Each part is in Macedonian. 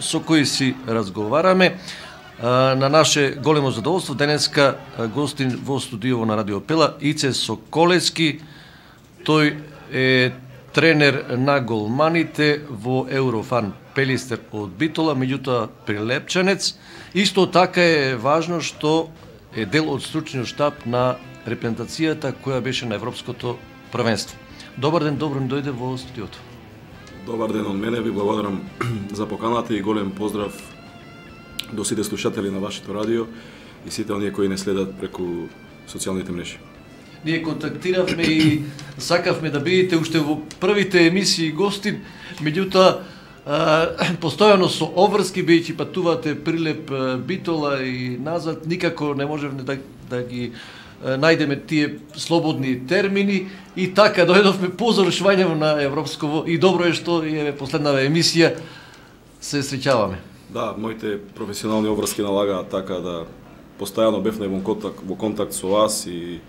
со кои си разговараме. На наше големо задоволство денеска гостин во студио на Радио Пела Ице Соколевски. Тој е тренер на голманите во Еврофан Пелистер од Битола, меѓутоа прилепчанец. Исто така е важно што е дел од стручниот штаб на репрезентацијата која беше на Европското првенство. Добар ден, добро дојде во студиото. Добар ден од мене, ви благодарам за поканата и голем поздрав до сите слушатели на вашето радио и сите оние кои не следат преку социјалните мрежи. Ние контактиравме и сакавме да бидете уште во првите емисии гостин, меѓутоа постојано со обврски, бидејќи патувате Прилеп, Битола и назад, никако не можевме да ги најдеме тие слободни термини и така дојдовме по завршувањето на Европско и добро е што е последнава емисија се среќаваме. Да, моите професионални обврски налагаат така да постојано бевме во контакт со вас и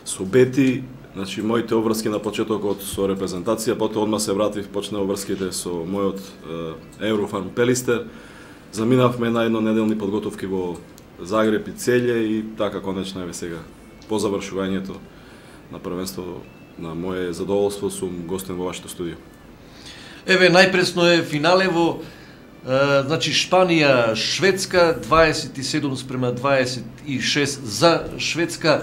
со Бети. Значи, моите обврски на почетокот со репрезентација, потоа одма се вратив, почнаа обврските со мојот Еврофан Пелистер. Заминавме на еднонеделни подготовки во Загреб и Целје и така конечно еве сега по завршувањето на првенство на мое задоволство сум гостин во вашето студио. Еве најпресно е финале во значи Шпанија, Шведска 27:26 за Шведска.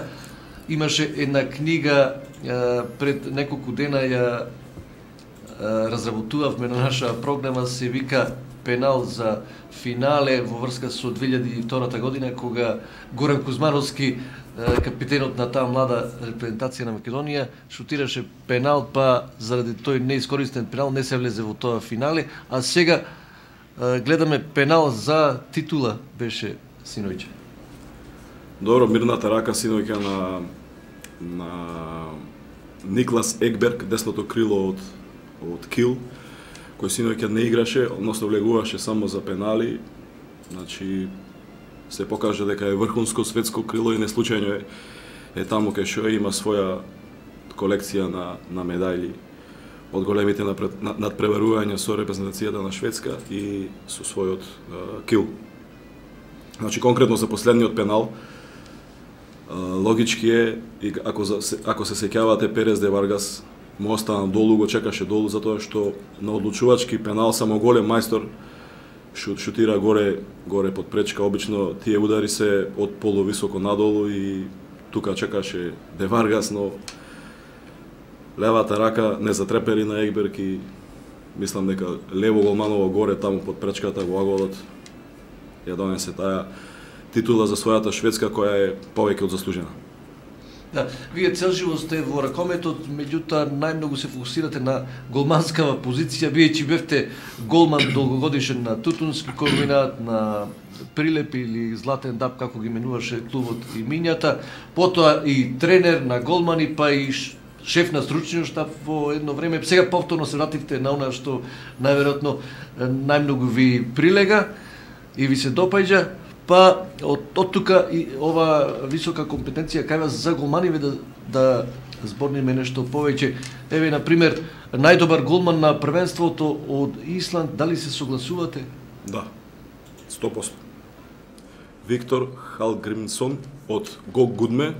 Имаше една книга пред неколку дена ја разработувавме на наша програма, се вика Пенал за финале во врска со 2002 година, кога Горан Кузмановски, капитенот на таа млада репрезентација на Македонија, шутираше пенал, па заради тој неискористен пенал не се влезе во тоа финале, а сега гледаме пенал за титула беше синојче. Добро, мирната рака синојка на Никлас Екберг, десното крило од Кил, кој синојка не играше, односно влегуваше само за пенали. Значи се покажа дека е врхунско светско крило и не случајно е таму кај што има своја колекција на медајли од големите надпреварувања со репрезентацијата на Шведска и со својот кил. Значи конкретно за последниот пенал, логички е, ако се сеќавате, Перес де Варгас му остана долу, го чекаше долу, затоа што на одлучувачки пенал само голем мајстор шутира горе под пречка. Обично тие удари се од полувисоко надолу и тука чекаше де Варгас, но левата рака не затрепери на Екберг и мислам дека лево голманово горе таму под пречката во аголот ја донесе таа титула за својата Шведска, која е повеќе од заслужена. Да, вие цел живот сте во ракометот, меѓутоа најмногу се фокусирате на голманскава позиција, бидејќи бевте голман долгогодишен на Тутунски комбинат, на Прилеп или Златен Даб, како ги менуваше клубот и минјата, потоа и тренер на голмани, па и шеф на стручниот штаб во едно време. Сега повторно се вративте на она што најверојатно најмногу ви прилега и ви се допаѓа. Па од тука и ова висока компетенција кај вас за голманиве да зборниме нешто повеќе. Еве на пример најдобар голман на првенството од Исланд, дали се согласувате? Да. 100%. Виктор Халгримсон од Гог Гудме,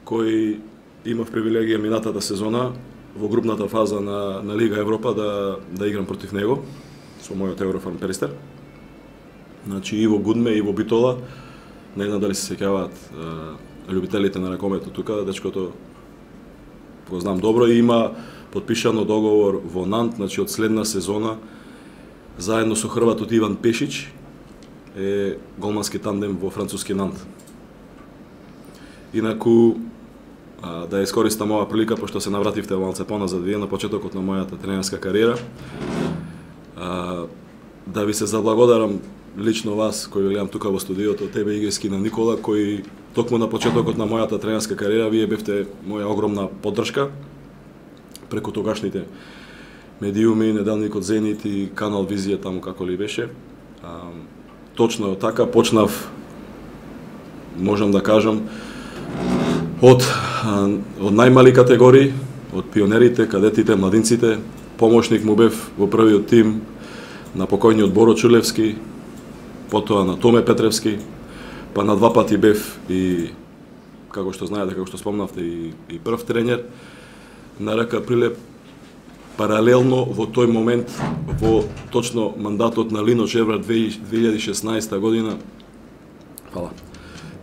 кој имав привилегија минатата сезона во групната фаза на Лига Европа да играм против него со мојот Еврофан Пелистер. Значи и во Гудме и во Битола, не знам дали се сеќаваат љубителите на ракометот тука, дечкото го знам добро и има потпишано договор во Нант, значи од следна сезона заедно со хрватот Иван Пешич е голмански тандем во француски Нант. Инаку да искористам оваа прилика, пошто се навративте малце поназад вие на почетокот на мојата тренерска кариера, да ви се заблагодарам лично вас, кој гледам тука во студиото, тебе Игески на Никола, кој токму на почетокот на мојата тренерска кариера, вие бевте моја огромна поддршка преку тогашните медиуми, неделникот Зенит и канал Визија, таму како ли беше. Точно така почнав, можам да кажам, од најмали категории, од пионерите, кадетите, младинците, помошник му бев во првиот тим на покојниот Боро Чулевски, потоа на Томе Петревски, па на 2 пати бев и, како што знаете, како што спомнавте, и прв тренер на РК Прилеп. Паралелно во тој момент, во точно мандатот на Лино Чевар 2016 година,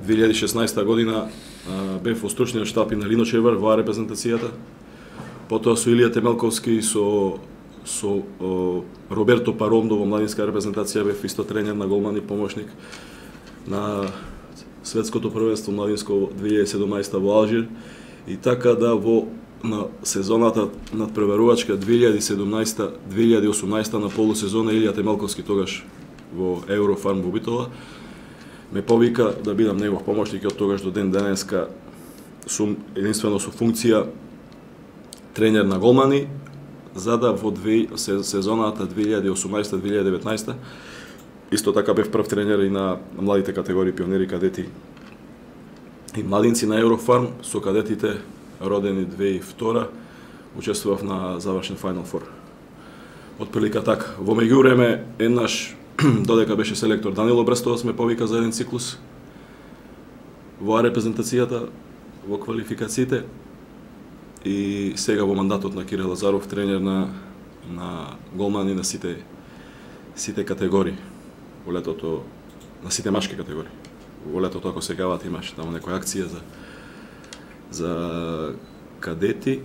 2016 година бев во стручниот штаб на Лино Чевар во репрезентацијата. Потоа со Илија Темелковски, со Роберто Парондо во младинска репрезентација бев исто тренер на голман и помошник на светското првенство младинско 2017 во Алжир. И така да на сезоната надпреварувачка 2017-2018 на полусезона Илија Темелковски тогаш во Еврофарм во Битола ме повика да бидам негов помошник и од тогаш до ден денеска сум единствено со функција тренер на голмани, за да во сезоната 2018-2019 исто така бев прв тренер и на младите категории пионери, кадети и младинци на Еврофарм. Со кадетите родени 2002 учествував на завршен Final Four. Од прилика така. Во меѓувреме еднаш додека беше селектор Данило Брестовас ме повика за еден циклус во репрезентацијата, во квалификациите, и сега во мандатот на Кирил Лазаров тренер на голмани на сите категории во летото, на сите машки категории. Во летото, ако сегават, имаш таму некоја акција за кадети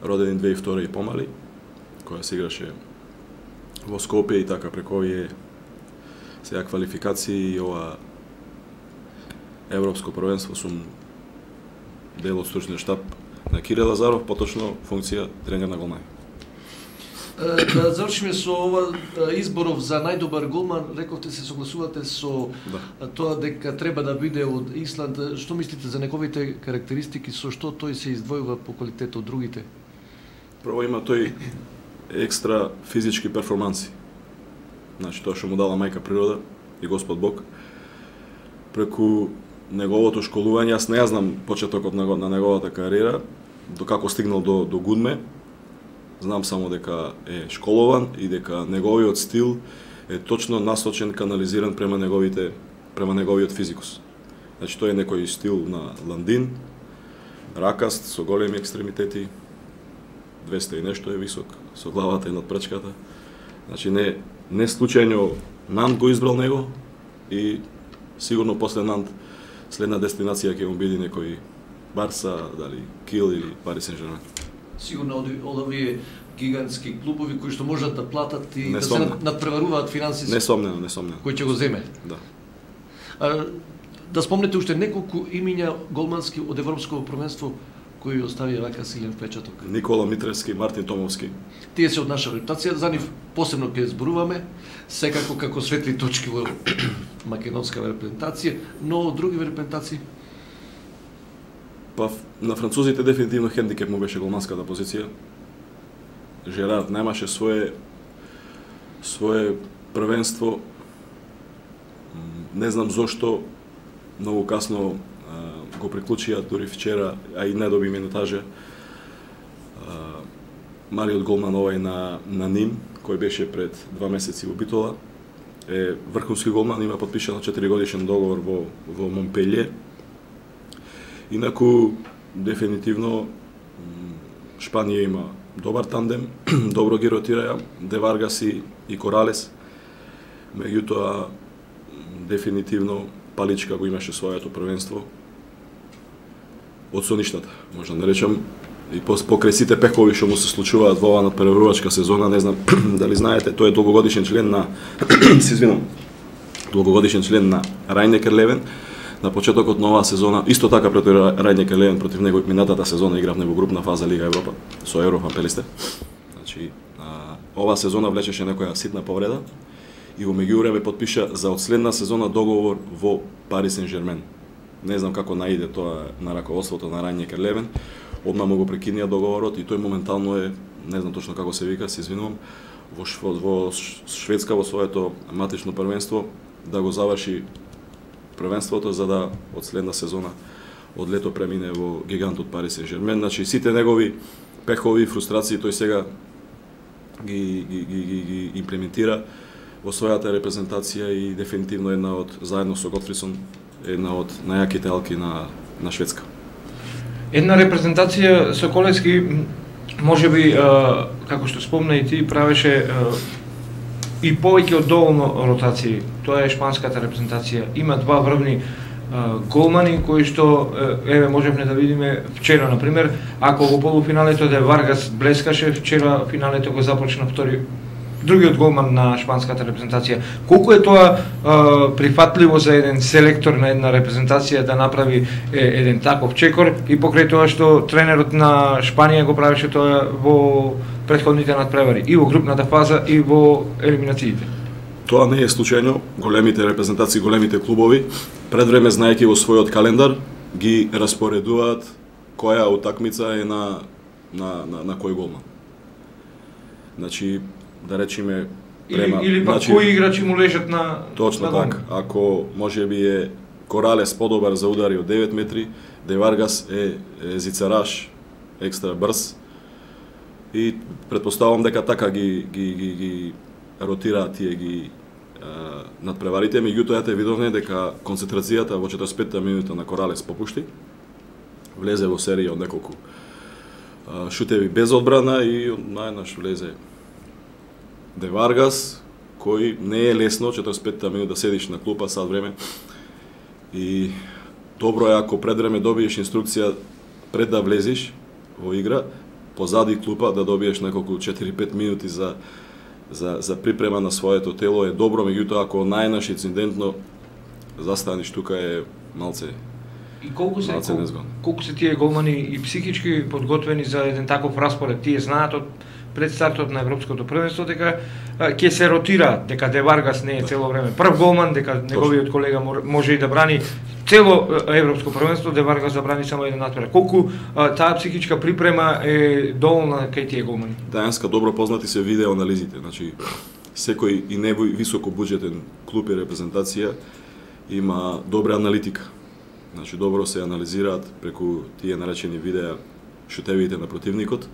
родени 2002 и помали, која се играше во Скопје, и така преку овие сега квалификации и ова европско првенство сум дел од стручниот штаб на Кирил Лазаров, поточно функција тренер на голмани. Да завршиме со ова изборов за најдобар голман. Рековте се согласувате со тоа дека треба да биде од Исланд. Што мислите за неговите карактеристики, со што тој се издвојува по квалитет од другите? Прво има тој екстра физички перформанси. Значи тоа што му дала мајка природа и Господ Бог. Преку неговото школување, јас не ја знам почетокот на неговата кариера, до како стигнал до Гудме. Знам само дека е школован и дека неговиот стил е точно насочен, канализиран према неговиот физикус. Значи тој е некој стил на Ландин, ракаст, со големи екстремитети, 200 и нешто е висок, со главата и надпречката. Значи не случајно Нант го избрал него, и сигурно после Нант следна дестинација ќе му биде некој Барса, дали Кил или Пари Сен-Жермен. Сигурно од овие гигантски клубови кои што можат да платат и да се надпреваруваат финансиски. Несомнено. Кој ќе го земе. Да. Да спомнете уште неколку имиња голмански од Европското првенство кои оставија вака силен впечаток. Никола Митревски, Мартин Томовски. Тие се од наша репутација, за нив посебно ќе зборуваме, секако како светли точки во македонска репрезентација, но од други репрезентации. Па на французите дефинитивно хендикеп му беше голманската позиција. Жерард немаше свое првенство. Не знам зошто многу касно го приклучија, дури вчера, а и не доби минутаже. Малиот голман овај на Ним, кој беше пред 2 месеци во Битола, е врховски голман, има подпишано 4-годишен договор во Монпелје. Инаку, дефинитивно, Шпанија има добар тандем, добро ги ротираја, Де Варгас и Коралес. Меѓутоа, дефинитивно, Паличка го имаше своето првенство од соништата, може да не речам, и покрај сите пекови што му се случуваат во оваа надпреварувачка сезона, не знам дали знаете, тој е долгогодишен член на долгогодишен член на Рајнекер Левен. На почетокот на оваа сезона, исто така против Рајнекер Левен, против него минатата сезона игравме во групна фаза Лига Европа со Еврофан Пелисте. Значи, оваа сезона влечеше некоја ситна повреда и во меѓувреме подпиша за од следна сезона договор во Пари Сен-Жермен. Не знам како наиде тоа на раководството на Рајнекер Левен. Одма му го прекинија договорот и тој моментално е, не знам точно како се вика, се извинувам, во Шведска во своето матично првенство да го заврши првенството за да од следна сезона од лето премине во гигантот Пари Сен-Жермен. Значи сите негови пехови, фрустрации тој сега ги имплементира во својата репрезентација и дефинитивно една од, заедно со Готфрисон, една од најаките алки на Шведска. Една репрезентација Соколевски, можеби, како што спомна и ти, правеше и повеќе од доволно ротации. Тоа е шпанската репрезентација. Има два врвни голмани кои што можевме да видиме вчера, на пример, ако во полуфиналето де Варгас блескаше, вчера финалето го започна другиот голман на шпанската репрезентација. Колку е тоа прифатливо за еден селектор на една репрезентација да направи еден таков чекор, и покрај тоа што тренерот на Шпанија го правеше тоа во претходните надпревари, и во групната фаза, и во елиминациите. Тоа не е случајно. Големите репрезентации, големите клубови, пред време, знаејќи во својот календар, ги распоредуваат која утакмица е на кој голман. Значи, да речеме, или пак кои играчи му лежат на точно така. Ако можеби е Коралес подобар за удари од 9 метри, Де Варгас е зицараш, екстра брз, и претпоставувам дека така ги ротираат тие надпреварите. Меѓутоа, те видовме дека концентрацијата во 45-та минута на Коралес попушти, влезе во серија од неколку шутеви без одбрана и најнаш влезе Де Варгас, кој не е лесно 45-та минута да седиш на клупа сад време, и добро е ако пред време добиеш инструкција пред да влезеш во игра, позади клупа да добиеш неколку 4-5 минути за припрема на своето тело е добро, меѓутоа ако најнаш инцидентно застанеш тука е малце. И колку се тие голмани и психички подготвени за еден таков распоред? Тие знаат од пред стартот на европското првенство дека ќе се ротира, дека Де Варгас не е цело време прв голман, дека неговиот колега може и да брани цело европско првенство, Де Варгас да брани само еден надпревар. Колку таа психичка припрема е доволна кај тие голмани? Тајанска добро познати се видео анализите. Значи, секој и високо буџетен клуб и репрезентација има добра аналитика. Значи, добро се анализираат преку тие наречени видеа шутевите на противникот,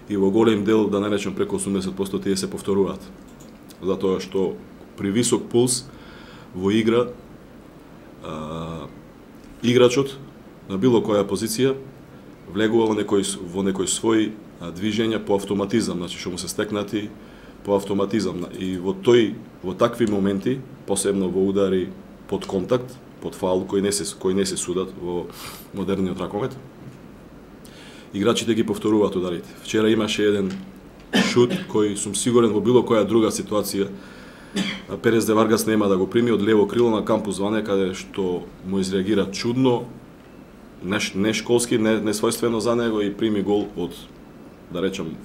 и во голем дел, да наречем преку 80%, тие се повторуваат. Затоа што при висок пулс во игра играчот на било која позиција влегува во некој свој движења по автоматизам, значи што му се стекнати по автоматизам, и во такви моменти, посебно во удари под контакт, под фаул кои не се судат во модерниот ракомет, играчите ги повторуваат ударите. Вчера имаше еден шут кој сум сигурен во било која друга ситуација Перес Де Варгас нема да го прими од лево крило на кампус Ване, каде што му изреагира чудно, не школски, не својствено за него, и прими гол од, да речем,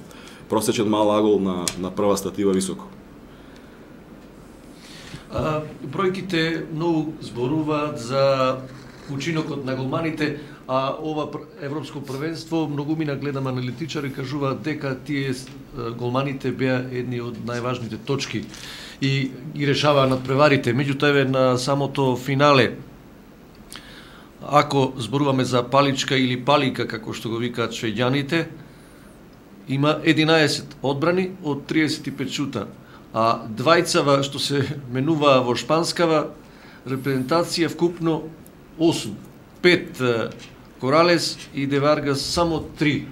просечен мал агол на прва статива високо. Бројките многу зборуваат за учинокот на голманите, а ова европско првенство многумина гледам аналитичари кажуваат дека тие голманите беа едни од најважните точки и ги решаваа надпреварите. Меѓутоа, еве на самото финале, ако зборуваме за паличка или палика, како што го викаат швеѓаните, има 11 одбрани од 35 шута, а двајцава што се менуваа во шпанскава репрезентација вкупно 8, 5 Коралес и Де Варгас само 3.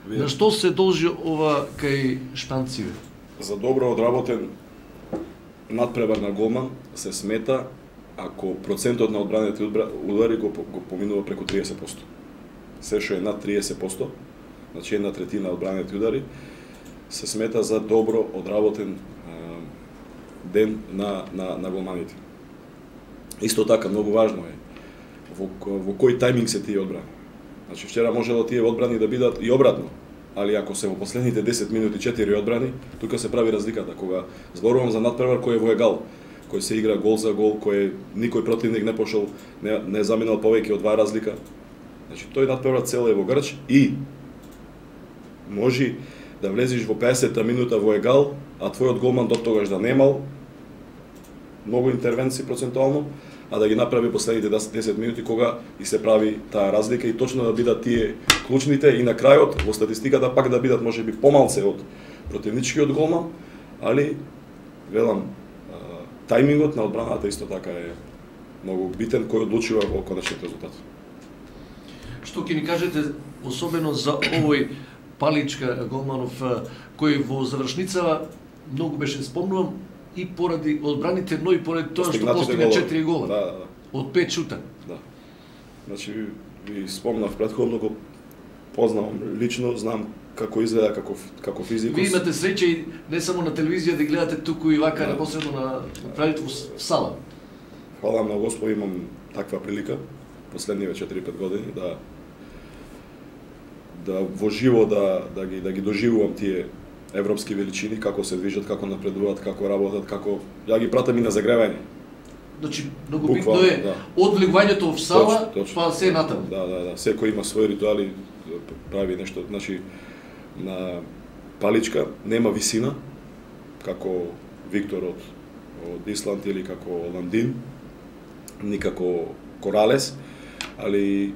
На што се должи ова кај шпанциве? За добро одработен надпревар на голман се смета ако процентот на одбраните удари го поминува преку 30%. Се што е над 30%, значи 1/3 одбраните удари, се смета за добро одработен ден на голманите. Исто така, многу важно е во кој тајминг се тие одбрани. Значи, вчера можело тие одбрани да бидат и обратно, али ако се во последните 10 минути 4 одбрани, тука се прави разликата. Кога зборувам за надпревар кој е во егал, кој се игра гол за гол, кој никој противник не пошол, не заминал повеќе од 2 разлика. Значи, тој надпревар цел е во грч и може да влезеш во 50-та минута во егал, а твојот голман до тогаш да немал многу интервенции процентуално, а да ги направи последните 10 минути кога и се прави таа разлика, и точно да бидат тие клучните, и на крајот во статистиката пак да бидат можеби помалце од противничкиот голман, али велам тајмингот на одбраната исто така е многу битен, кој одлучува во конечниот резултат. Што ќе ни кажете особено за овој Паличка голманов кој во завршницава многу беше спомнувам и поради одбраните, но и поради тоа што постигна 4 гола. Да. Од 5 шута. Да. Значи ви спомнав претходно, го познавам лично, знам како изгледа како физикус. Ви имате среќа и не само на телевизија да гледате туку и вака непосредно на правите во сала. Фала на Господ, имам таква прилика последниве 4-5 години да во живо да ги доживувам тие европски величини, како се движат, како напредуваат, како работат, како ја ги пратам и на загревање. Значи многу битно е од влегувањето во сала па се натаму. Да, секој има своји ритуали, прави нешто, значи на Паличка нема висина како Виктор од Исланд или како Ландин, ни како Коралес, али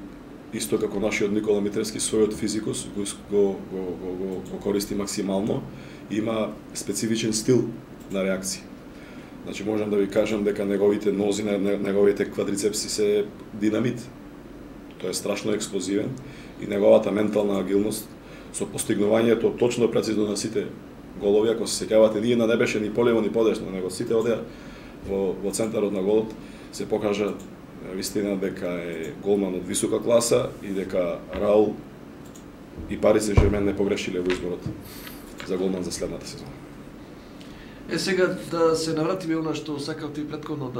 исто како нашиот Никола Митревски својот физикус го користи максимално, има специфичен стил на реакција. Значи можам да ви кажам дека неговите нози, неговите квадрицепси се динамит. Тој е страшно експлозивен и неговата ментална агилност со постигнувањето точно прецизно на сите голови, ако се сеќавате, ние не беше ни полево ни подесно, него сите одеа во центарот на голот, се покажа вистина дека е голман од висока класа и дека Раул и Пари Сен-Жермен не погрешиле во изборот за голман за следната сезона. Сега да се навратиме она што сакавте и претходно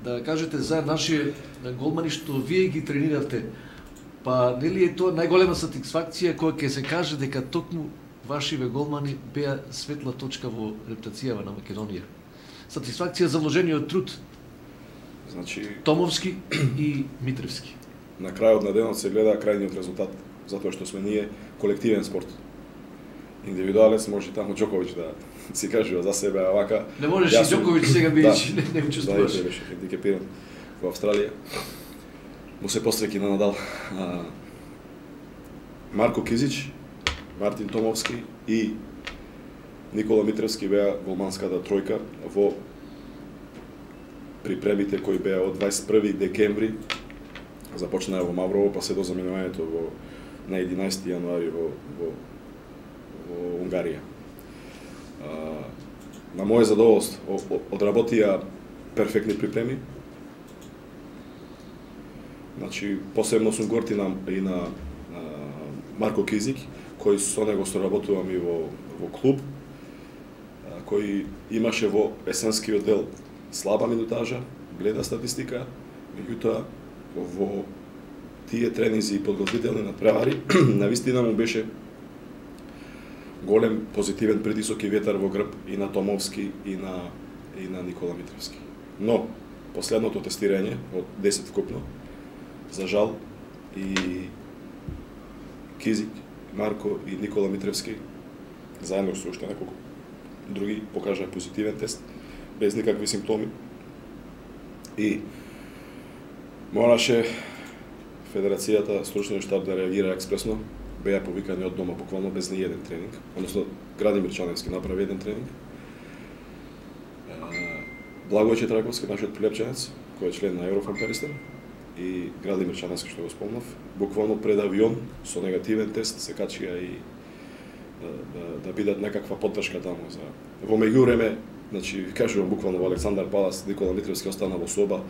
да кажете за нашите голмани што вие ги трениравте. Па нели е тоа најголема сатисфакција кога ќе се каже дека токму вашиве голмани беа светла точка во рептацијава на Македонија. Сатисфакција за вложениот труд. Значи Томовски и Митревски. На крајот на денот се гледа крајниот резултат, затоа што сме ние колективен спорт. Индивидуалец може таму Џоковиќ да си кажува за себе, а вака... Не можеш и Џоковиќ сега бидејќи не учествуваш. Да, беше хендикепиран во Австралија. Му се посреќи на Надал. Марко Кизич, Мартин Томовски и Никола Митревски беа голманската тројка во припремите кои беа од 21 декември, започнаа во Маврово, па се до заминувањето на 11 јануари во Унгарија. На моје задоволство одработија перфектни припреми. Значи, посебно сум гортин и на Марко Кизик, кој со него соработувам и во клуб, кој имаше во есенскиот дел слаба минутажа, гледа статистика, меѓутоа во тие тренинзи и подготвителни надпревари, навистина му беше голем позитивен притисок и ветар во грб и на Томовски и на Никола Митревски. Но последното тестирање од 10 вкупно, за жал и Кизик, Марко и Никола Митревски заедно со уште неколку други покажаа позитивен тест без никакви симптоми. И мораше Федерацијата, стручниот штаб да реагира експресно. Беа повикани од дома буквално без ни еден тренинг, односно Градимир Чаневски направи еден тренинг. Благој Четраковски, нашиот прилепченец, кој е член на Еврофан-Перистен, и Градимир Чаневски, што го спомнав, буквално пред авион со негативен тест се качија и да бидат некаква поддршка таму за во меѓувреме, значи ви кажувам буквално во Александар Палас, Никола Митревски остана во соба,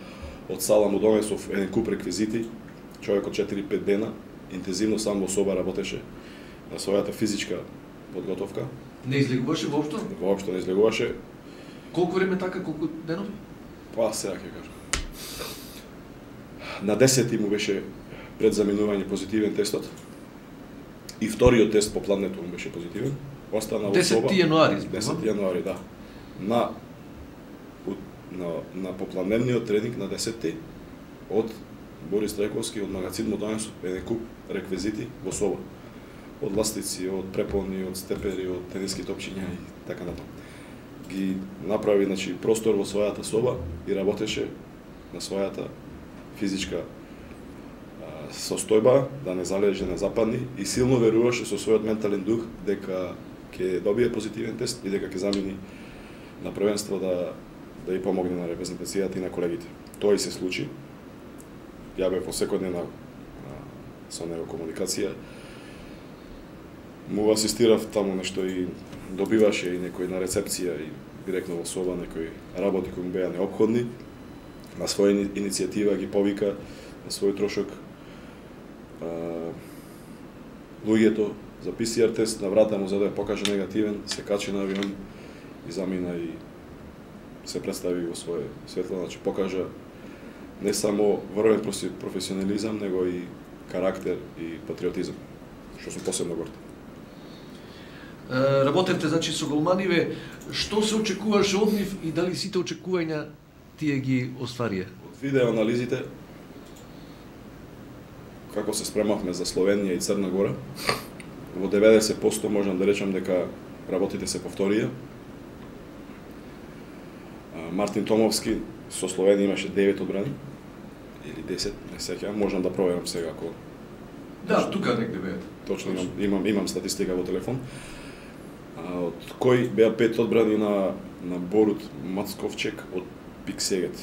од сала му донесов еден куп реквизити, човекот 4-5 дена интензивно сам во соба работеше на својата физичка подготовка. Не излегуваше воопшто? Воопшто не излегуваше. Колку време така, колку денови? Па сега ќе кажам. На 10 му беше пред заминување позитивен тестот. И вториот тест по пладнето му беше позитивен. Остана во соба. 10 јануари. 10 јануари, да. На попладневниот тренинг на 10 од Борис Трајковски од магазин му донесов еден куп реквизити во соба. Од ластици, од препони, од степери, од тениски топчиња и така натаму. Ги направи, значи, простор во својата соба и работеше на својата физичка состојба, да не залеже, не западни, и силно веруваше со својот ментален дух дека ќе добие позитивен тест и дека ќе замени на првенство да и помогне на репрезентацијата и на колегите. Тоа и се случи. Ја бев во секојдневна со него комуникација. Му асистирав таму нешто и добиваше и некој на рецепција и директно во соба некои работи кои му беа неопходни. На своја иницијатива ги повика на свој трошок луѓето за PCR тест, на врата му за да ја покаже негативен, се качи на авион и замина и се представи во своје светло, значи покажа не само врвен професионализам, него и карактер и патриотизам, што сум посебно горд. Работевте значи со голманиве, што се очекуваше од нив и дали сите очекувања тие ги остварија? Од видеоанализите како се спремавме за Словенија и Црна Гора, во 90% можам да речам дека работите се повторија. Мартин Томовски со Словенија имаше 9 одбрани или 10, не сеќавам, можам да проверам сега ако. Да, тука негде беа. Точно имам статистика во телефон. Од кои беа 5 одбрани на Борут Мацковчек од Пиксегет.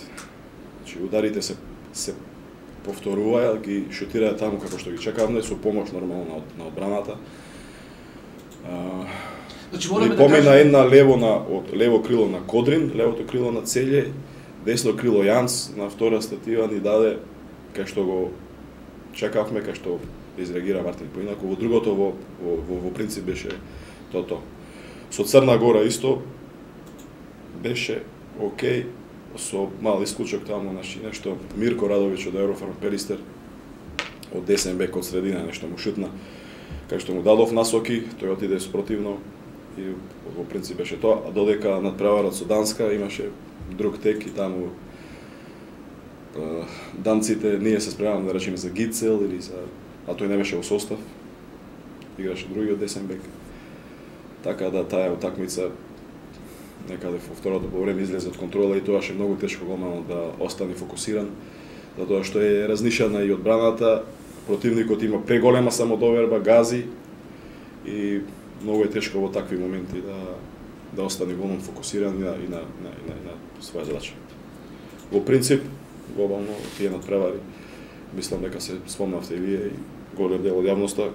Значи ударите се повторуваја, ги шутираја таму како што ги чекавме, со помош нормално на одбраната. Значи мораме да помина една од лево крило на Кодрин, левото крило на Целје, десно крило Јанс, на втора статива ни даде кај што го чекавме, кај што изреагира Мартин поинаку. Во другото во принцип беше тоа. Со Црна Гора исто беше окей, со мал исклучок таму, значи нешто Мирко Радовиќ од Еврофарм Перистер од десен бек од средина нешто му шутна, кај што му дадов насоки, тој отиде спротивно и во принцип беше тоа, а додека надпреварот со Данска имаше друг тек и таму данците ние се спремавме да речеме за Гицел или за, а тој не беше во состав, играше другиот десен бек. Така да таа утакмица некаде во второто повреме излезе од контрола и тоаше многу тешко голманот да остане фокусиран, затоа што е разнишана и одбраната, противникот има преголема самодоверба, гази и многу е тешко во такви моменти да остане голман фокусиран и на своја задача. Во принцип, глобално тие надпревари, мислам дека се спомнавте и вие и голем дел од јавноста,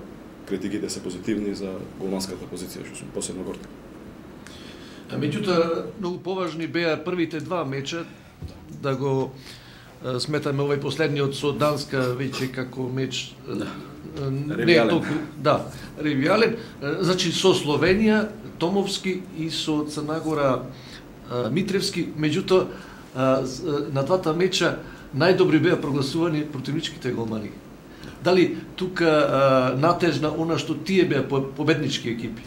критиките се позитивни за голманската позиција, што сум посебно горд. Меѓутоа, многу поважни беа првите два меча, да го сметаме овој последниот со Данска веќе како меч не е толку, да, ревијален. Значи со Словенија, Томовски и со Црна Гора Митревски, меѓутоа на двата меча најдобри беа прогласувани противничките голмани. Дали тука натежна она што тие беа победнички екипи?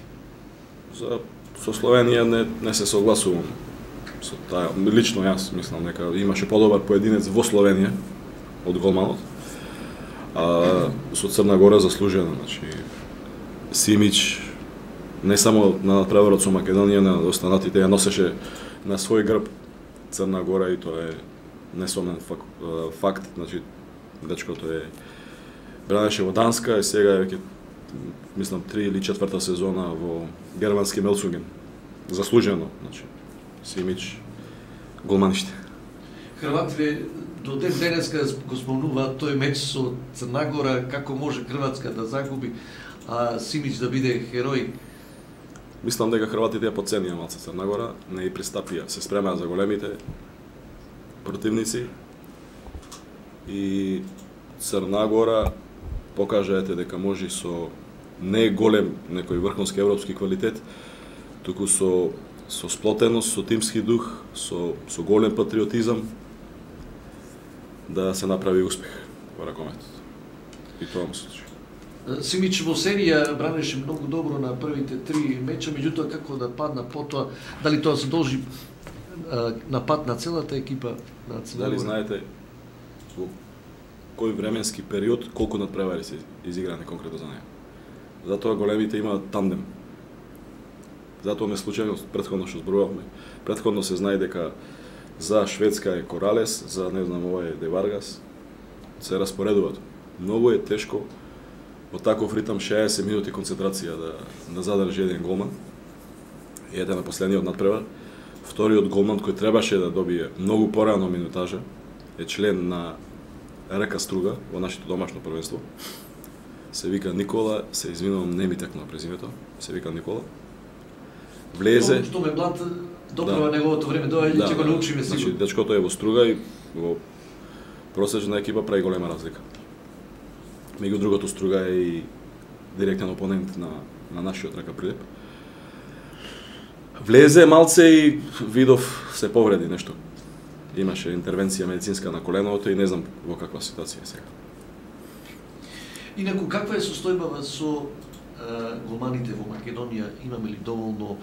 Со Словенија не се согласувам со таа. Лично јас мислам дека имаше подобар поединец во Словенија од голманот. А со Црна Гора заслужено, значи Симич не само на надпреварот со Македонија, на останатите ја носеше на свој грб Црна Гора и тоа е несомен факт, значи дечкото бранеше во Данска и сега е веќе мислам 3 или 4 сезона во германски Мелсунген. Заслужено, значи Симич голманиште. Хрватите до ден денеска го спомнуваат тој меч со Црна Гора, како може Хрватска да загуби, а Симич да биде херој. Мислам дека хрватите ја подценија малце Црна Гора, не и пристапија, се спремаа за големите противници и Црна Гора покажаете дека може со не голем некој врховски европски квалитет, туку со сплотеност, со тимски дух, со голем патриотизам да се направи успех во ракометот. И тоа му се случи. Симич во серија бранеше многу добро на првите 3 меча, меѓутоа како да падна потоа, дали тоа се должи на пат на целата екипа на Црна Гора? Дали знаете во кој временски период колку надпревари се изиграни конкретно за неја? Затоа големите имаат тандем. Затоа не случајно претходно што зборувавме. Претходно се знае дека за Шведска е Коралес, за не знам ова е Де Варгас, се распоредуваат. Многу е тешко во таков ритам 60 минути концентрација да задржи еден голман. И ете на последниот надпревар, Вториот голман кој требаше да добие многу порано минутажа е член на РК Струга во нашето домашно првенство. Се вика Никола, се извинувам, не ми текна презимето. Се вика Никола. Влезе. Што ме млад доправа неговото време, ќе го научиме сигурно. Значи дечкото е во Струга и во просечна екипа прави голема разлика. Меѓу другото Струга е и директен опонент на нашиот РК Прилеп. Влезе малце и видов се повреди нешто. Имаше интервенција медицинска на коленото и не знам во каква ситуација е сега. Инаку, каква е состојбава со голманите во Македонија? Имаме ли доволно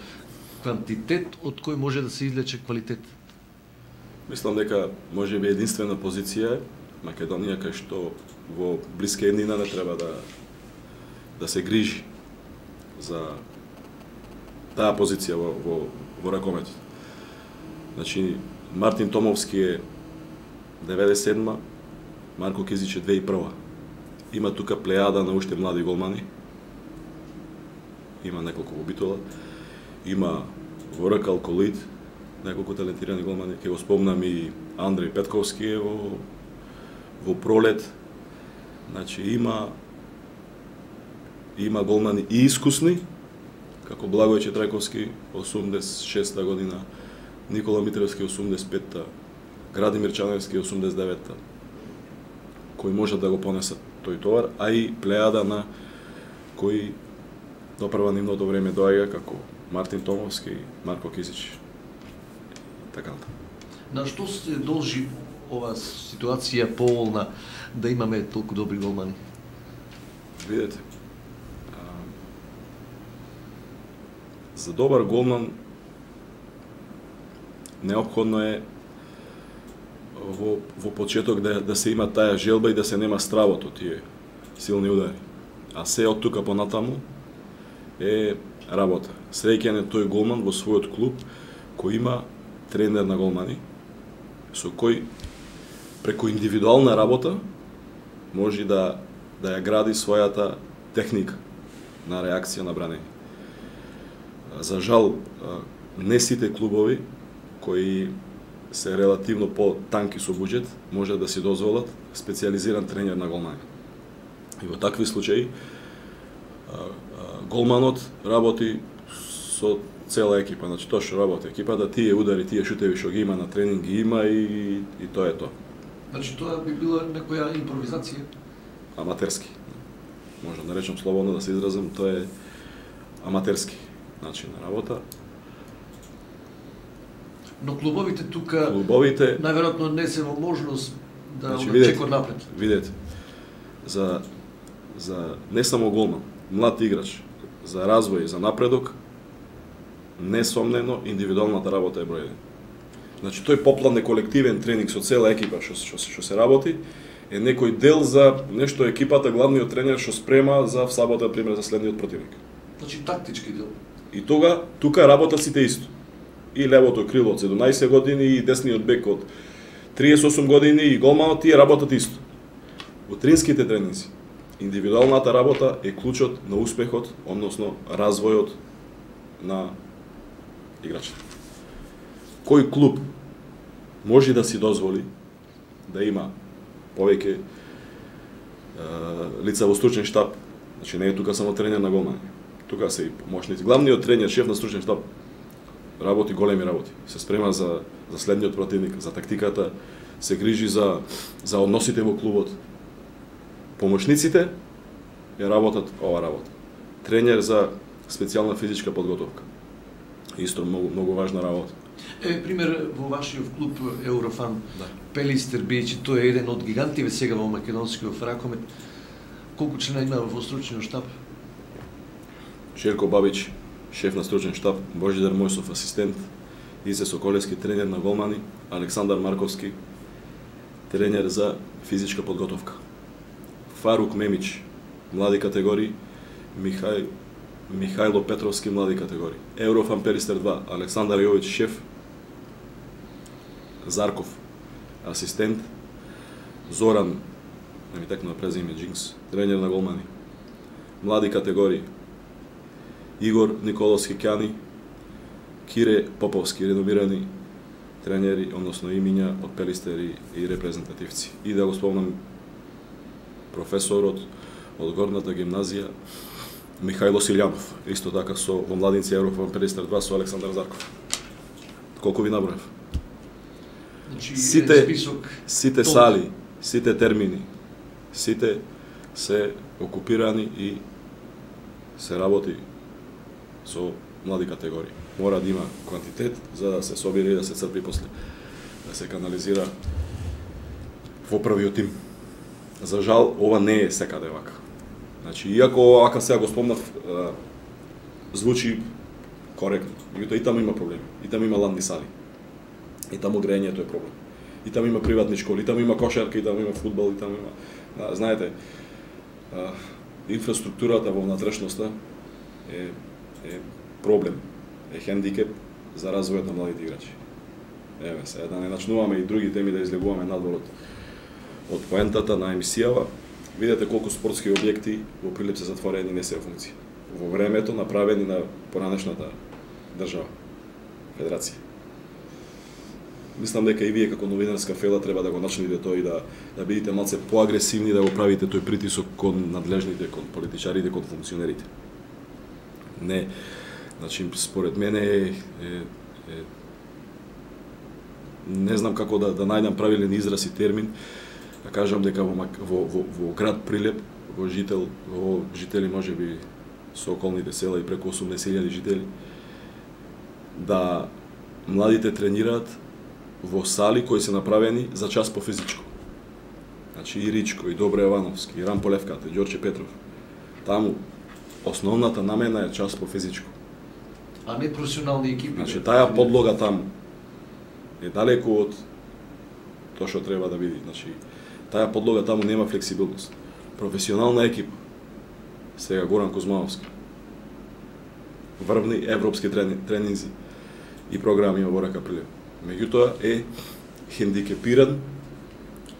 квантитет од кој може да се извлече квалитет? Мислам дека може би единствена позиција е Македонија кај што во блиска еднина не треба да се грижи за таа позиција во ракометот. Значи Мартин Томовски е 97-ма, Марко Кизич е 2001-ма. Има тука плејада на уште млади голмани. Има неколку во Битола. Има во РК Алколит неколку талентирани голмани. Ке го спомнам и Андреј Петковски е во Пролет. Значи има голмани и искусни, како Благој Четрајковски 86-та година, Никола Митревски 85-та, Градимир Чаневски 89-та, кои можат да го понесат тој товар, а и плејада на кои допрва нивното време доаѓа како Мартин Томовски, Марко Кизич. Така. На што се должи ова ситуација поволна да имаме толку добри голмани? Видете, за добар голман неопходно е во почеток да се има таа желба и да се нема стравот од тие силни удари. А се од тука понатаму е работа. Среќен е тој голман во својот клуб кој има тренер на голмани, со кој преку индивидуална работа може да ја гради својата техника на реакција на бранење. За жал, не сите клубови кои се релативно по-танки со буџет може да си дозволат специализиран тренер на голмани. И во такви случаи голманот работи со цела екипа, значи тоа што работи екипата, тие удари, тие шутеви што ги има на тренинг ги има и тоа е тоа. Значи тоа би била некоја импровизација? Аматерски. Може да речем слободно да се изразам, тоа е аматерски начин на работа. Но клубовите тука најверојатно не се во можност да чекор напред. Видете, за не само голман, млад играч, за развој, за напредок, несомнено индивидуалната работа е број 1. Значи тој поплан е колективен тренинг со цела екипа што се работи, е некој дел за нешто екипата, главниот тренер што спрема за сабота, пример, за следниот противник. Значи тактички дел. И тука работат сите исто. И левото крило од 17 години, и десниот бек од 38 години, и голманот, тие работат исто. Во тренските тренинзи, индивидуалната работа е клучот на успехот, односно развојот на играчите. Кој клуб може да си дозволи да има повеќе лица во стручен штаб, значи не е тука само тренер на голмани, тука се и помошници. Главниот тренер, шеф на стручен штаб, работи големи работи, се спрема за следниот противник, за тактиката, се грижи за односите во клубот. Помошниците ја работат ова работа. Тренер за специјална физичка подготовка. Исто многу важна работа. Пример, во вашиот клуб Еврофан, да. Пелистер, бијќи тој е еден од гигантиве сега во македонскиот ракомет, колку члена има во стручниот штаб? Шерко Бабич, шеф на стручен штаб, Божидар Мојсов, асистент, Исе Соколевски, тренер на голмани, Александар Марковски, тренер за физичка подготовка. Фарук Мемич, млади категории, Михајло Петровски, млади категории. Еврофан Пелистер 2, Александар Јович, шеф, Зарков, асистент, Зоран, не ми текна презиме, Джинкс, тренер на голмани. Млади категории, Игор Николовски Кјани, Кире Поповски, реномирани тренери, односно имиња од пелистери и репрезентативци. И да го спомнам професорот од горната гимназија Михајло Силјанов, исто така во младинци Европа Пелистер 2 со Александар Зарков. Колку ви наброев? Значи, сите сали, сите термини, сите се окупирани и се работи со млади категории. Мора да има квантитет за да се собира и да се црпи после, да се канализира во првиот тим. За жал, ова не е секаде вака. Значи, иако вака сега го спомнав, звучи коректно, меѓутоа и таму има проблеми, и таму има ландни сали, и таму грејењето е проблем, и таму има приватни школи, и таму има кошарка, и таму има фудбал, и таму има... знаете, инфраструктурата во внатрешноста е проблем, е хендикеп за развојот на младите играчи. Еве, сега да не начнуваме и други теми да излегуваме надвор од поентата на емисијава, видете колку спортски објекти во Прилеп се затворени и не се во функција. Во времето направени на поранешната држава, федерација. Мислам дека и вие како новинарска фела треба да го начнете тој и да бидете малце поагресивни, да го правите тој притисок кон надлежните, кон политичарите, кон функционерите. Не, значи според мене не знам како да најдам правилен израз и термин, да кажам дека во град Прилеп, во жители можеби со околните села и преку 80.000 жители, да младите тренираат во сали кои се направени за час по физичко. Значи и Ричко, и Добре Јовановски, и Рампо Левката, и Ѓорче Петров. Таму основната намена е час по физичко. А не професионални екипи. Значи таа подлога таму е далеку од тоа што треба да биде. Значи таа подлога таму нема флексибилност. Професионална екипа, сега Горан Кузмановски, врвни европски тренинзи и програми во РК Прилеп. Меѓутоа е хендикепиран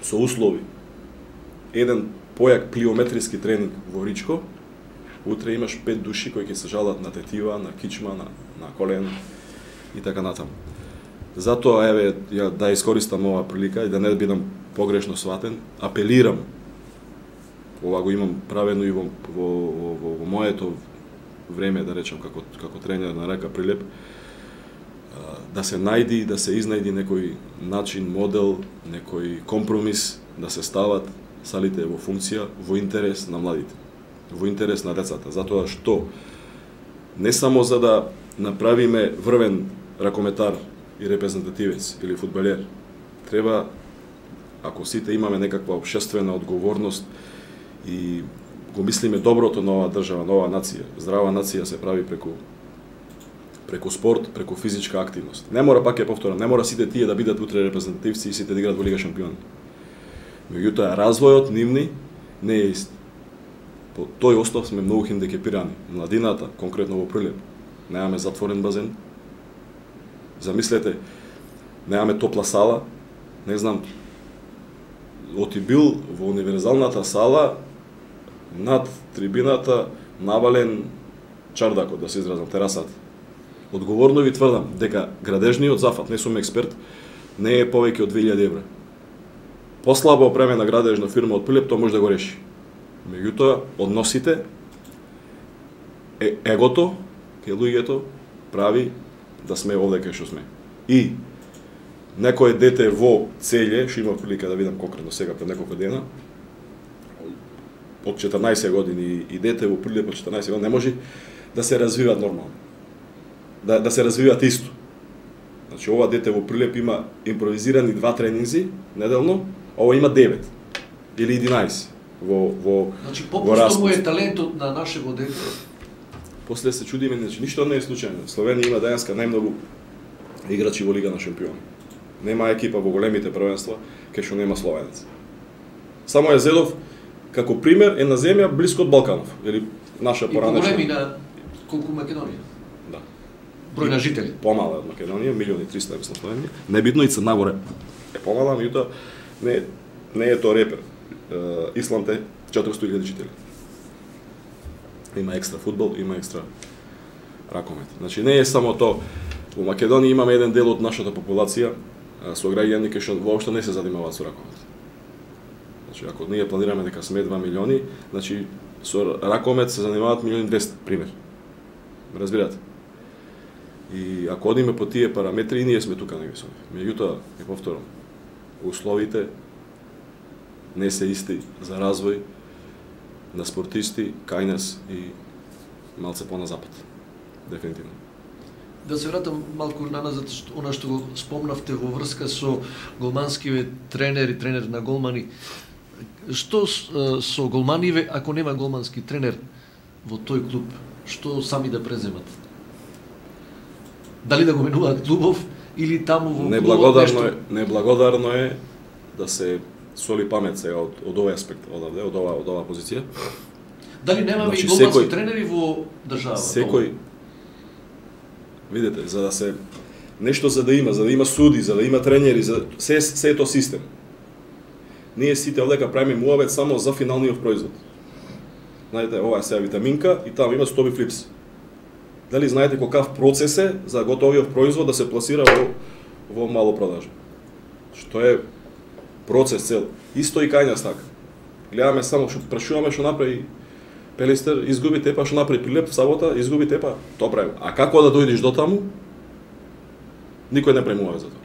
со услови. Еден појак плиометриски тренинг во Ричко, утре имаш 5 души кои ќе се жалат на тетива, на кичма, на колен и така натаму. Затоа, еве, ја да искористам оваа прилика и да не бидам погрешно сватен, апелирам, ова го имам правено и во моето време, да речем, како тренер на РК Прилеп, да се најди, да се изнајди некој начин, модел, некој компромис, да се стават салите во функција, во интерес на младите, во интерес на децата, затоа што не само за да направиме врвен ракометар и репрезентативец или фудбалер, треба, ако сите имаме некаква општествена одговорност и го мислиме доброто на оваа држава, на оваа нација, здрава нација се прави преку спорт, преку физичка активност. Не мора, пак ја повторам, не мора сите тие да бидат утре репрезентативци и сите да играат во Лига шампиони. Меѓутоа, развојот нивни не е ист. По тој остав сме многу хендикепирани. Младината, конкретно во Прилеп, немаме затворен базен. Замислете, немаме топла сала, не знам, оти бил во универзалната сала, над трибината, навален чардакот, да се изразам, терасата. Одговорно ви тврдам дека градежниот зафат, не сум експерт, не е повеќе од 2000 евра. Послабо опремена градежна фирма од Прилеп, тоа може да го реши. Меѓутоа, односите, егото, кај луѓето, прави да сме овде кај што сме. И некое дете во Целје, што има прилика да видам конкретно сега пред неколку дена, од 14 години и дете во Прилеп од 14 години не може да се развиваат нормално. Да се развиваат исто. Значи, ова дете во Прилеп има импровизирани 2 тренинзи неделно, ова има 9 или 11 во значи, попусто му е талентот на нашего дете. После се чудиме, значи, ништо не е случајно. Словенија има денеска најмногу играчи во Лига на шампиони. Нема екипа во големите првенства кај што нема словенец. Само ја зедов како пример една земја блиско од Балканов, или наша поранешна. И големи на колку Македонија. Да. Број на жители. Помала од Македонија, 1.300.000 мислам Словенија. Небитно и Црнагора е помала, меѓутоа не е тоа репер. Исланд е 400.000 жители. Има екстра фудбал, има екстра ракомет. Значи не е само тоа. Во Македонија имаме еден дел од нашата популација со граѓани кои што воопшто не се занимаваат со ракомет. Значи, ако ние планираме дека сме 2 милиони, значи со ракомет се занимаваат 1.200.000, пример. Ме разбирате? И ако одиме по тие параметри, и ние сме тука негде со нив. Меѓутоа, ќе повторам, условите не се исти за развој на спортисти кај нас и малце по на запад. Дефинитивно. Да се вратам малку наназад, она што го спомнавте во врска со голманскиве тренер на голмани. Што со голманиве ако нема голмански тренер во тој клуб? Што сами да преземат? Дали да го менуваат клубов или таму во клубот нешто? Неблагодарно е да се соли памет сега од овој аспект, од оваа позиција. Дали немаме и голмански тренери во државата? Секој, видите, за да се нешто за да има суди, за да има тренери, за се е тоа систем. Ние сите овдека правиме муабет само за финалниот производ. Знаете, ова е сега витаминка и таму има стоби флипс. Дали знаете каков процес е за готовиот производ да се пласира во мало продажа? Што е процес цел. Исто и кај нас така. Гледаме само што прашуваме што направи Пелистер, изгуби тепа, што направи Прилеп в сабота, изгуби тепа, тоа прави. А како да дојдеш до таму? Никој не премува за тоа.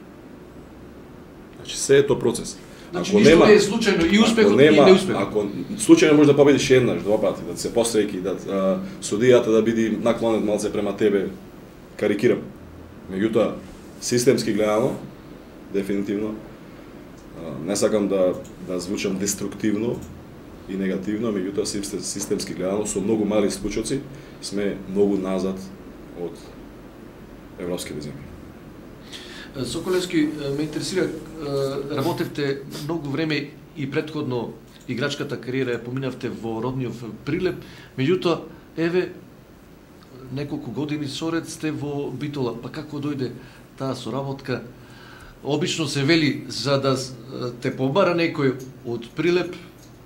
Значи се е тоа процес. Значи ништо не е случајно и успехот и неуспехот. Ако случајно може да победиш еднаш, два пати, да се посреќи, да судијата да биде наклонет малце према тебе, карикирам. Меѓутоа, системски гледано, дефинитивно, не сакам да звучам деструктивно и негативно, меѓутоа системски гледано со многу мали случоци сме многу назад од европските земји. Соколевски, ме интересира, работевте многу време и претходно играчката кариера ја поминавте во родниот Прилеп, меѓутоа, еве, неколку години соред сте во Битола, па како дојде таа соработка? Обично се вели, за да те побара некој од Прилеп,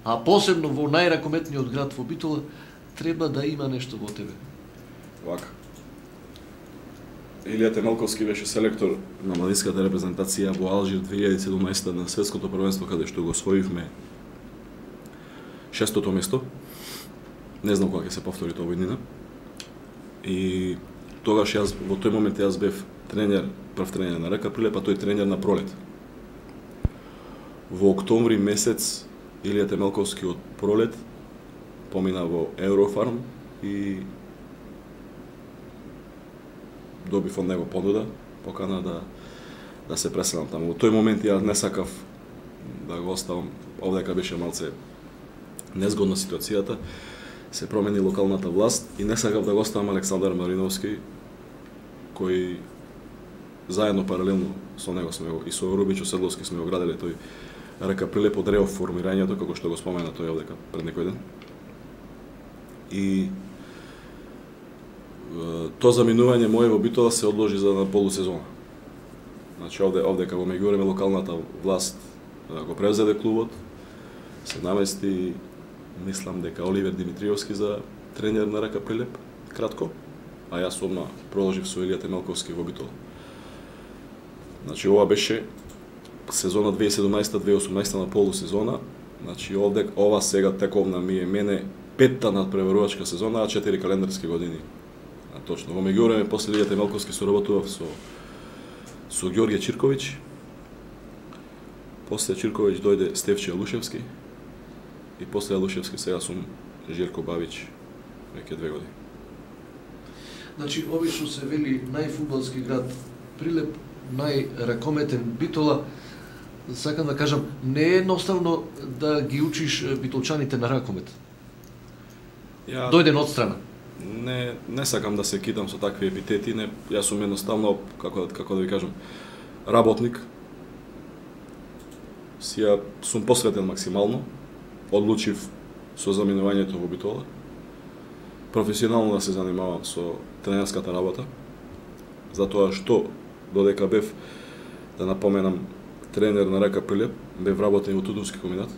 а посебно во најракометниот град во Битола, треба да има нешто во тебе. Вака. Илија Темелковски беше селектор на младинската репрезентација во Алжир 2017 на светското првенство, каде што го освоивме 6-то место. Не знам кога ќе се повтори тоа година. И тогаш јас во тој момент јас бев тренер, прв тренер на РК Прилеп, а тој тренер на пролет. Во октомври месец Илија Темелковски од пролет помина во Еврофарм и добив од него понуда, покана да се преселам таму. Во тој момент ја не сакав да го оставам, овдека беше малце незгодна ситуацијата, се промени локалната власт и не сакав да го оставам Александар Мариновски, кој заедно паралелно со него сме го и со Рубичо Седловски сме го граделе тој РК Прилеп од реформирањето, како што го спомена тој овдека пред некој ден. И тоа заминување мое во Битола се одложи за на полусезона. Значи овдека во меѓувреме локалната власт го превзеде клубот, се намести, мислам дека Оливер Димитриевски за тренер на РК Прилеп, кратко, а јас одма продолжив со Илија Темелковски во Битола. Значи ова беше сезона 2017-2018 на полусезона, значи ова сега тековна ми е мене петта надпреварувачка сезона, а 4 календарски години. Точно. Во меѓувреме после Илија Темелковски соработував со Ѓорѓе Чирковиќ. После Чирковиќ дојде Стефче Алушевски и после Алушевски сега сум Желко Бавич веќе 2 години. Значи, обично се вели најфудбалски град Прилеп, најракометен Битола. Сакам да кажам, не е едноставно да ги учиш битолчаните на ракомет. Дојден од страна. Не сакам да се кидам со такви епитети, јас сум едноставно, како да ви кажам, работник. Сија сум посветен максимално, одлучив со заминувањето во Битола. Професионално да се занимавам со тренерската работа, затоа што додека бев, да напоменам, тренер на РК Прилеп, бев работен во Тутунски комбинат.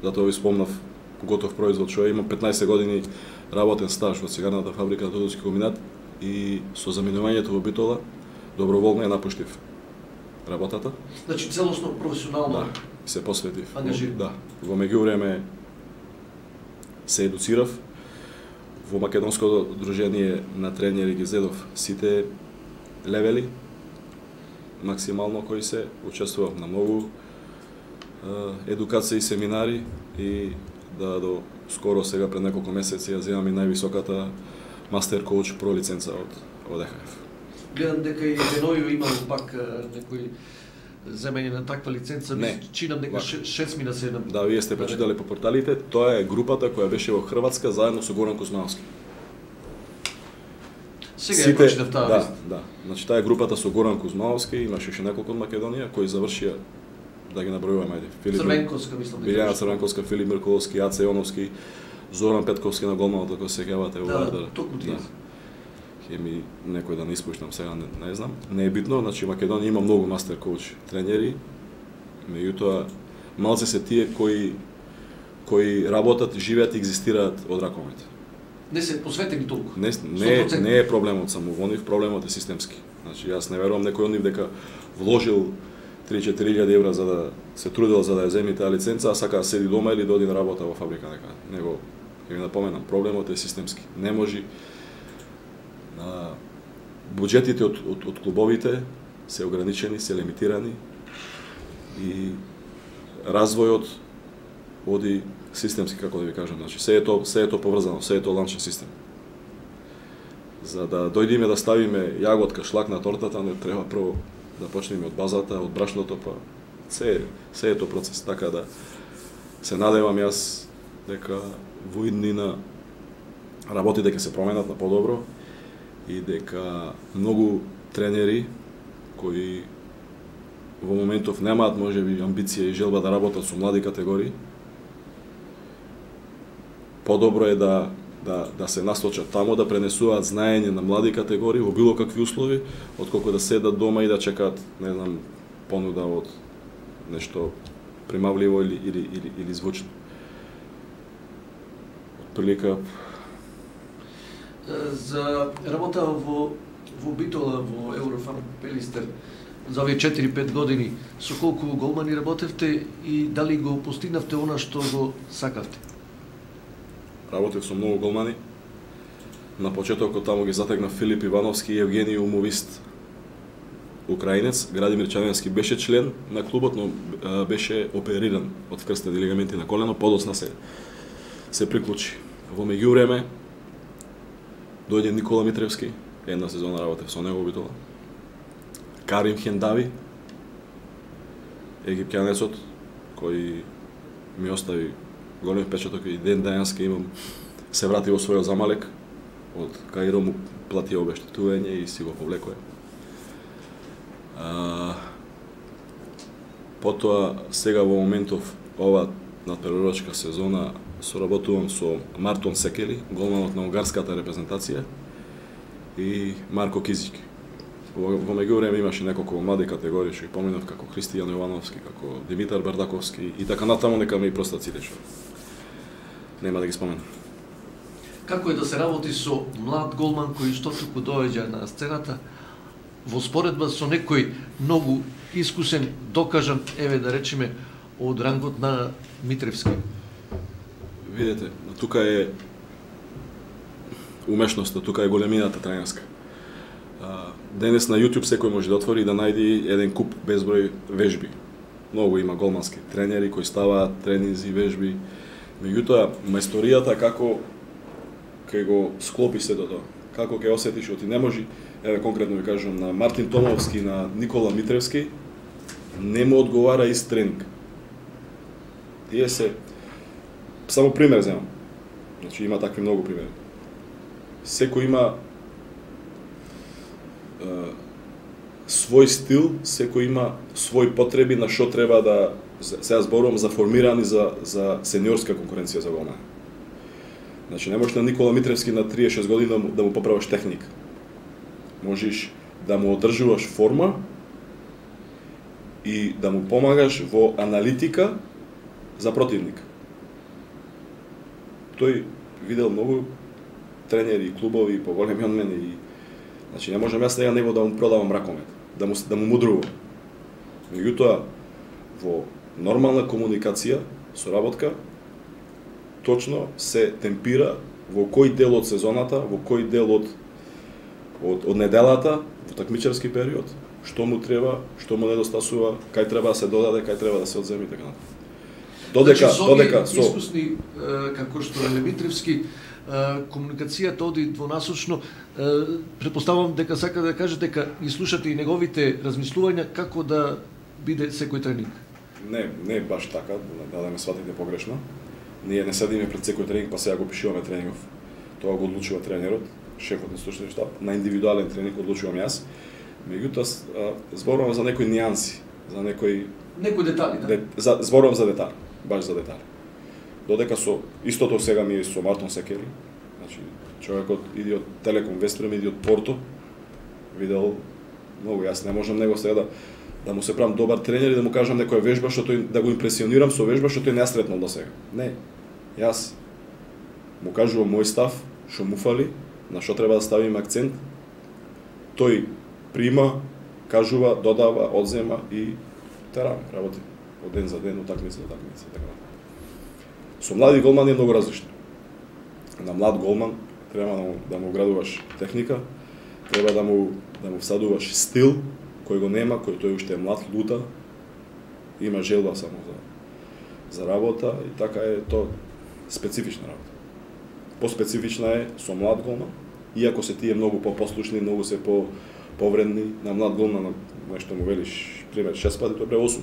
Затоа ви спомнав готов производ, што имам 15 години работен стаж во цигарната фабрика на Тутунски комбинат и со заминувањето во Битола доброволно ја напуштив работата. Значи целосно професионално. Да, се посветив. Ангажиран. Да. Во меѓувреме се едуцирав. Во Македонското дружение на тренери ги зедов сите левели, максимално кои се, учествував на многу едукации, семинари и до скоро сега пред неколку месеци ја земам и највисоката мастер коуч про лиценца од ЕХФ. Гледам дека и Денојо имало пак некој земење на таква лиценца, чинам дека 6 мина 7. Да, вие сте прочитале по порталите, тоа е групата која беше во Хрватска заедно со Горан Кузмановски. Сега ја прочитав таа листа. Да. Значи таа е групата со Горан Кузмановски, имаше уште неколку од Македонија кои завршија, да ги набројуваме, ајде. Црвенковска, мислам. Билјана Црвенковска, Филип Мирковски, Аце Јоновски, Зоран Петковски на голманот, ако се сеќавате во Вардар. Да, токму тие. Хеми некој да не испуштам сега, не знам. Не е битно, значи Македонија има многу мастер коуч тренери, меѓутоа малце се тие кои работат, живеат и екзистираат од ракомет. Не се посветени толку. Не е проблемот само во нив, проблемот е системски. Значи јас не верувам некој од нив дека вложил 3-4 евра за да се трудел за да ја земи таа лиценца, а сака да седи дома или да оди на работа во фабрика некаде. Него ќе ви напоменам, проблемот е системски. Не може буџетите од клубовите се ограничени, се лимитирани и развојот оди системски, како да ви кажам, значи се е тоа поврзано, се е тоа ланчен систем. За да дојдеме да ставиме јаготка, шлак на тортата, не треба прво да почнеме од базата, од брашното, па се е тоа процес, така да се надевам јас дека во иднина работите ќе се променат на подобро и дека многу тренери кои во моментов немаат можеби амбиција и желба да работат со млади категории, подобро е да се насочат тамо, да пренесуваат знаење на млади категории во било какви услови, отколку да седат дома и да чекаат, не знам, понуда од нешто примавливо или звучно. Отприлика за работа во Битола, во Еврофан Пелистер, за овие 4-5 години, со колку голмани работевте и дали го постигнавте она што го сакавте? Работев со многу голмани. На почетокот таму ги затегна Филип Ивановски и Евгений Умовист, украинец. Градимир Чаневски беше член на клубот, но беше опериран од вкрстени лигаменти на колено, подоцна се приклучи. Во меѓувреме дојде Никола Митревски, една сезона работев со него Битола. Карим Хендави, египтјанецот, кој ми остави голем впечаток и ден денеска имам, се врати во својот Замалек, од Каиро му плати обештетување и си го повлекоја. Потоа, сега во моментов, ова надпреварувачка сезона, соработувам со Мартон Секели, голманот на унгарската репрезентација, и Марко Кизик. Во меѓувреме имаше неколку млади категории, што ги поминав, како Христијан Јовановски, како Димитар Бардаковски и така натаму, нека ме и простат сите што нема да ги споменам. Како е да се работи со млад голман кој што туку доаѓа на сцената, во споредба со некој многу искусен, докажан, еве да речеме, од рангот на Митревски? Видете, тука е умешноста, тука е големината тренерска. Денес на YouTube секој може да отвори и да најди еден куп безброј вежби. Многу има голмански тренери кои ставаат тренинзи, вежби. Меѓутоа, мајсторијата како ќе го склопи се до тоа, како ќе осетиш, оти не може, еве конкретно ви кажам, на Мартин Томовски, на Никола Митревски, не му одговара ист тренинг. Тие се, само пример земам, значи има такви многу примери. Секој има свој стил, секој има свој потреби на што треба да, сега зборувам за формирани за сениорска конкуренција за голмани. Значи не можеш на Никола Митревски на 36 години да му поправиш техника. Можеш да му одржуваш форма и да му помагаш во аналитика за противник. Тој видел многу тренери и клубови поголеми од мене и Значи не можам јас сега него да му продавам ракомет, да му мудрувам. Меѓутоа во нормална комуникација, соработка, точно се темпира во кој дел од сезоната, во кој дел од неделата, во такмичарски период, што му треба, што му недостасува, кај треба да се додаде, кај треба да се одземе и така натаму. Додека со искусни како што е Митревски, комуникацијата оди двонасочно, претпоставувам дека сака да каже дека ги слушате и неговите размислувања како да биде секој тренинг. Не баш така, да ме сватите погрешно. Ние не седиме пред секој тренинг, па сега го пишуваме тренингов. Тоа го одлучува тренерот, шефот на stručni штаб, на индивидуален тренинг одлучувам јас. Меѓутоа зборувам за некои нијанси, за некои детали, да. Зборувам за детали, баш за детали. Додека со истото сега ми е со Мартон Секери, значи човекот иди од Телеком Вестрем, иди од Порто, видел многу, јас не можам него сега да му се правам добар тренер и да му кажам некоја вежба што тој да го импресионирам со вежба што тој не сретнал до сега. Не. Јас му кажувам мој став, што му фали, на што треба да ставиме акцент. Тој прима, кажува, додава, одзема и терам работи од ден за ден, од такмица до такмица, така. Со млади голмани е многу различно. На млад голман треба да му градуваш техника, треба да му всадуваш стил кој го нема, кој тој уште е млад, лута, има желба само за работа и така е тоа специфична работа. Поспецифична е со млад голман, иако се тие многу попослушни, многу се повредни, на млад голман нешто му велиш пример 6 пати, тоа бре 8.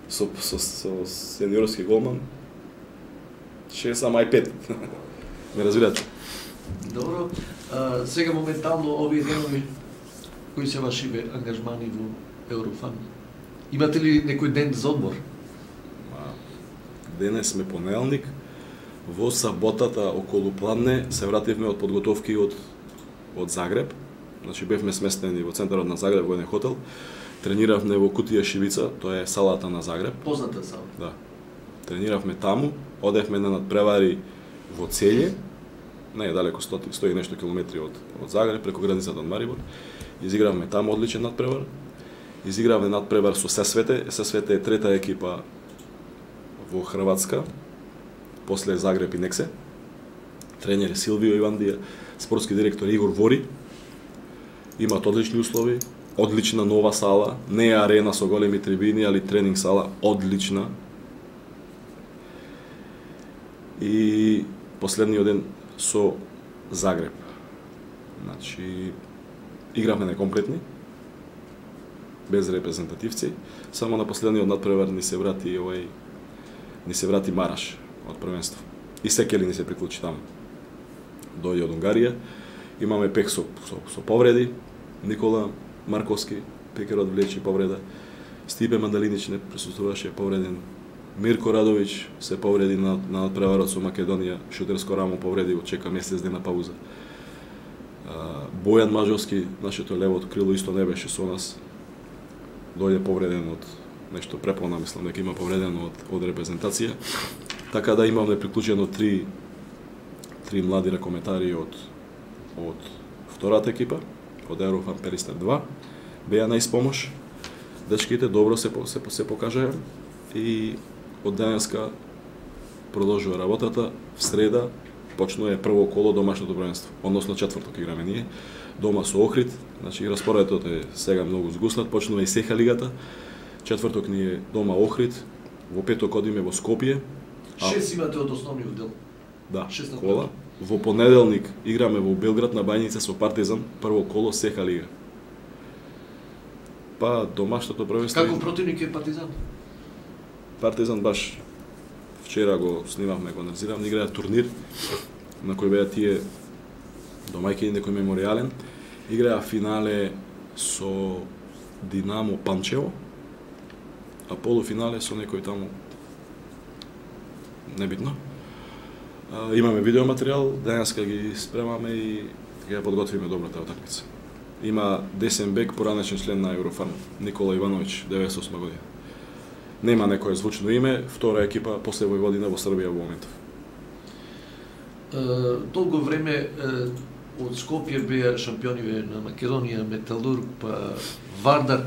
Со сениорски голман 6, ама и 5. Не разбирате? Добро. Сега моментално овие денови кои се вашите ангажмани во Еврофан? Имате ли некој ден за одмор? Денес сме понеделник. Во саботата околу пладне се вративме од подготовки од Загреб. Значи бевме сместени во центарот на Загреб во еден хотел. Трениравме во Кутија Шибица, тоа е салата на Загреб. Позната сала. Да. Трениравме таму, одевме на надпревари во Целје, не е далеко 100 и нешто километри од Загреб, преку границата од Марибор. Изигравме таму одличен надпревар. Изигравме надпревар со Сесвете. Сесвете е трета екипа во Хрватска, после Загреб и Нексе. Тренер е Силвио Ивандија, спортски директор Игор Вори. Имаат одлични услови, одлична нова сала, не е арена со големи трибини, али тренинг сала одлична. И последниот ден со Загреб. Значи, игравме некомплетни, без репрезентативци, само на последниот надпревар ни се врати Мараш од првенство. И Секели ни се приклучи таму. Дојде од Унгарија, имаме пек со повреди, Никола Марковски, пекерот влечи повреда, Стипе Мандалинич не присуствуваше, повреден, Мирко Радович се повреди на надпреварот со Македонија, шутерско рамо повреди, чека месец дена пауза. Бојан Мажовски, нашето левото крило, исто не беше со нас. Дојде повреден од нешто преполна, мислам дека има повреден од репрезентација. Така да имаме приклучено три млади ракометари од втората екипа, од Еврофан Перистер 2. Беа на испомош. Дечките добро се покажаа и од денеска продолжува работата. В среда почнува прво коло домашното првенство, односно четврток играме ние, дома со Охрид, значи распоредот е сега многу згуснат, почнува и Сеха лигата, четврток ни е дома Охрид, во петок одиме во Скопје. 6 имате од основниот дел. Да, кола. Во понеделник играме во Белград на Бајница со Партизан, прво коло Сеха лига. Па домашното првенство. Како противник е Партизан? Партизан баш вчера го снимавме, го анализиравме, играат турнир на кој беа тие домајки некој меморијален. Играа финале со Динамо Панчево, а полуфинале со некој таму небитно. Имаме видеоматеријал, денеска ги спремаме и ќе подготвиме добро таа утакмица. Има десен бек, поранешен член на Еврофан, Никола Ивановиќ, 98 година. Нема некое звучно име, втора екипа после Војводина во Србија во моментов. Долго време од Скопје беа шампиони на Македонија, Металург, па Вардар,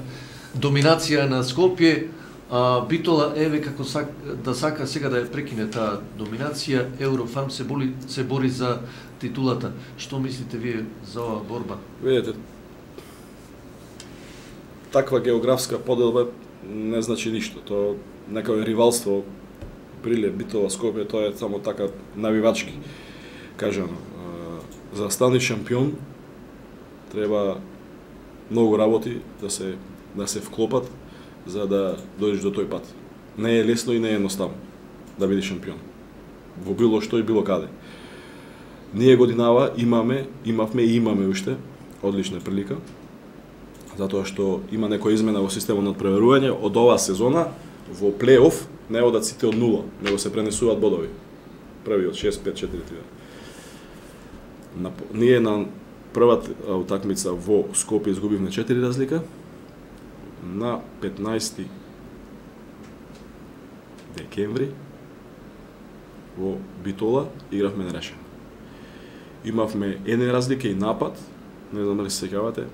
доминација на Скопје, а Битола еве како сака сега да ја прекине таа доминација, Еврофарм се бори за титулата. Што мислите вие за оваа борба? Видете, таква географска поделба не значи ништо. Тоа некој ривалство Прилеп, Битола, Скопје, тоа е само така навивачки кажано. За да станеш шампион треба многу работи да се вклопат за да дојдеш до тој пат. Не е лесно и не е едноставно да бидеш шампион. Во било што и било каде. Ние годинава имавме и имаме уште одлична прилика, затоа што има некоја измена во системот на преверување. Од оваа сезона во плей-оф не одат сите од 0, него се пренесуваат бодови. Првиот 6-5-4-3. Ние на првата утакмица во Скопје изгубивме 4 разлика. На 15 декември во Битола игравме нерешено. Имавме една разлика и напад, не знам дали се сеќавате.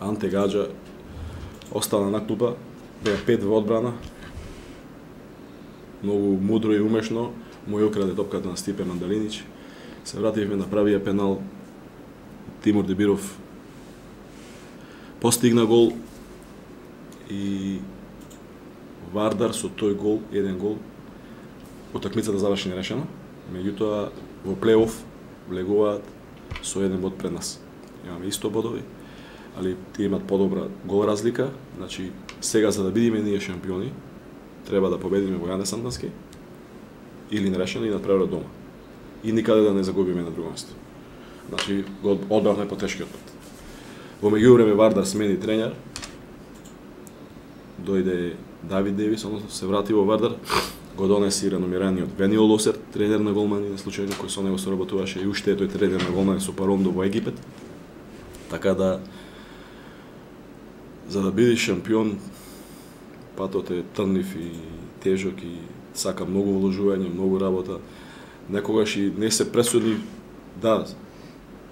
Анте Гаджа остана на клупа, беа 5 во одбрана. Многу мудро и умешно му ја украде топката на Стипе Мандалинич. Се вративме на правија пенал. Тимур Дебиров постигна гол и Вардар со тој гол, еден гол, утакмицата заврши нерешено. Меѓутоа во плей-оф влегуваат со еден бод пред нас. Имаме исто бодови, али тие имат подобра гол разлика. Значи сега за да бидеме ние шампиони, треба да победиме во Јане Сандански или нерешено и надпревар дома. И никаде да не загубиме на друго место. Значи го одбравме по тешкиот пат. Во меѓувреме Вардар смени тренер. Дојде Давид Девис, односно се врати во Вардар, го донеси реномираниот Вениол Лосер, тренер на голмани, на случајно кој со него соработуваше и уште е тој тренер на голмани со Парондо во Египет. Така да, за да бидеш шампион, патот е трнив и тежок и сака многу вложување, многу работа. Некогаш и не се пресудни, да,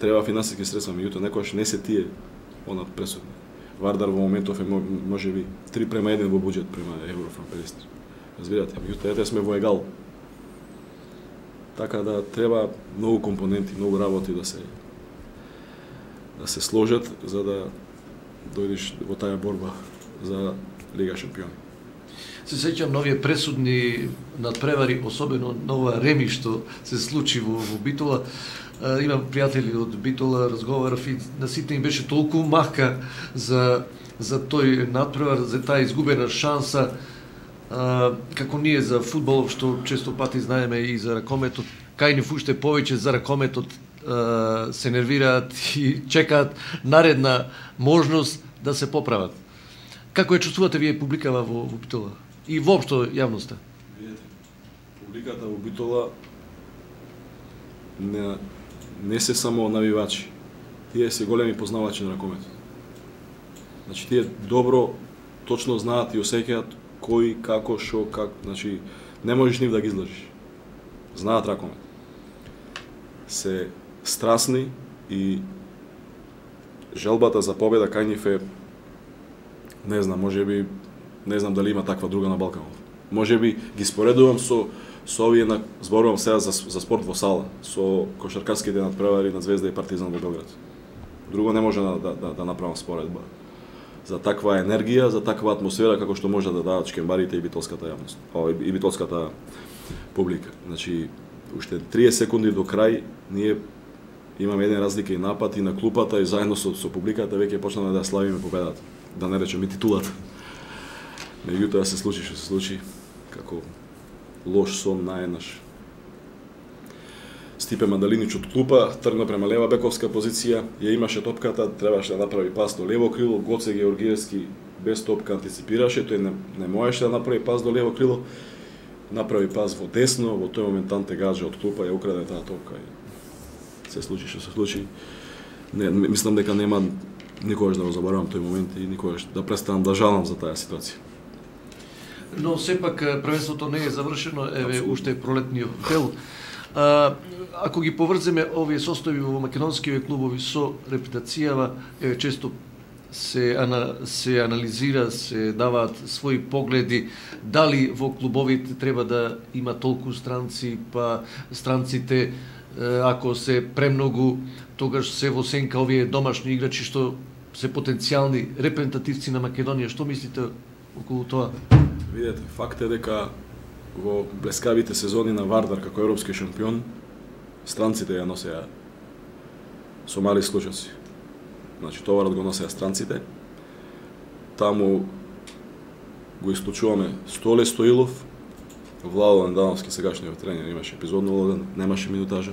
треба финансиски средства, меѓутоа некогаш не се тие она пресудни. Вардар во моментов е можеби 3:1 во буџет према Еврофарм 50. Разбирате, меѓутоа ете сме во егал. Така да треба многу компоненти, многу работи да се сложат за да дојдеш во таа борба за Лига шампиони. Се сеќам на овие пресудни надпревари, особено на ова реми што се случи во Битола. Имам пријатели од Битола, разговарав и на сите им беше толку мака за тој надпревар, за таа изгубена шанса, како ние за фудбалов, што често пати знаеме и за ракометот, кај ни уште повеќе за ракометот се нервираат и чекаат наредна можност да се поправат. Како ја чувствувате вие публикава во Битола? И воопшто јавноста? Видете, публиката во Битола не се само навивачи. Тие се големи познавачи на ракометот. Значи тие добро, точно знаат и осеќаат кој, како, шо, как, значи не можеш нив да ги излажиш. Знаат ракомет. Се страсни и желбата за победа кај нив е, не знам, можеби, не знам дали има таква друга на Балканот. Можеби ги споредувам со овие, зборувам сега за спорт во сала, со кошаркарските надпревари на Звезда и Партизан во Белград. Друго не може да направам споредба. За таква енергија, за таква атмосфера како што може да дадат шкембарите и битолската јавност, и битолската публика. Значи, уште 30 секунди до крај, ние имаме еден разлика и напад и на клупата и заедно со публиката веќе почнаме да славиме победата, да не речеме титулата. Меѓутоа се случи што се случи, како лош сон наеднаш. Стипе Мандалинич од клупа тргна према лева бековска позиција, ја имаше топката, требаше да направи пас до лево крило, Гоце Георгиевски без топка антиципираше, тој не можеше да направи пас до лево крило, направи пас во десно, во тој момент Анте Гаджа од клупа ја украде таа топка и се случи што се случи. Мислам дека нема никогаш да го заборавам тој момент и никогаш да престанам да жалам за таа ситуација. Но сепак првенството не е завршено, еве уште пролетниот дел. Ако ги поврземе овие состојби во македонските клубови со репутацијава, често се анализира, се даваат своји погледи, дали во клубовите треба да има толку странци, па странците ако се премногу, тогаш се во сенка овие домашни играчи што се потенцијални репрезентативци на Македонија. Што мислите околу тоа? Видете, факт е дека во блескавите сезони на Вардар како европски шампион, странците ја носеа со мали исклучоци. Значи, товарот го носеа странците. Таму го исклучуваме Столе Стоилов, Владо Ландановски, сегашниот тренер, имаше епизодно улога, немаше минутажа.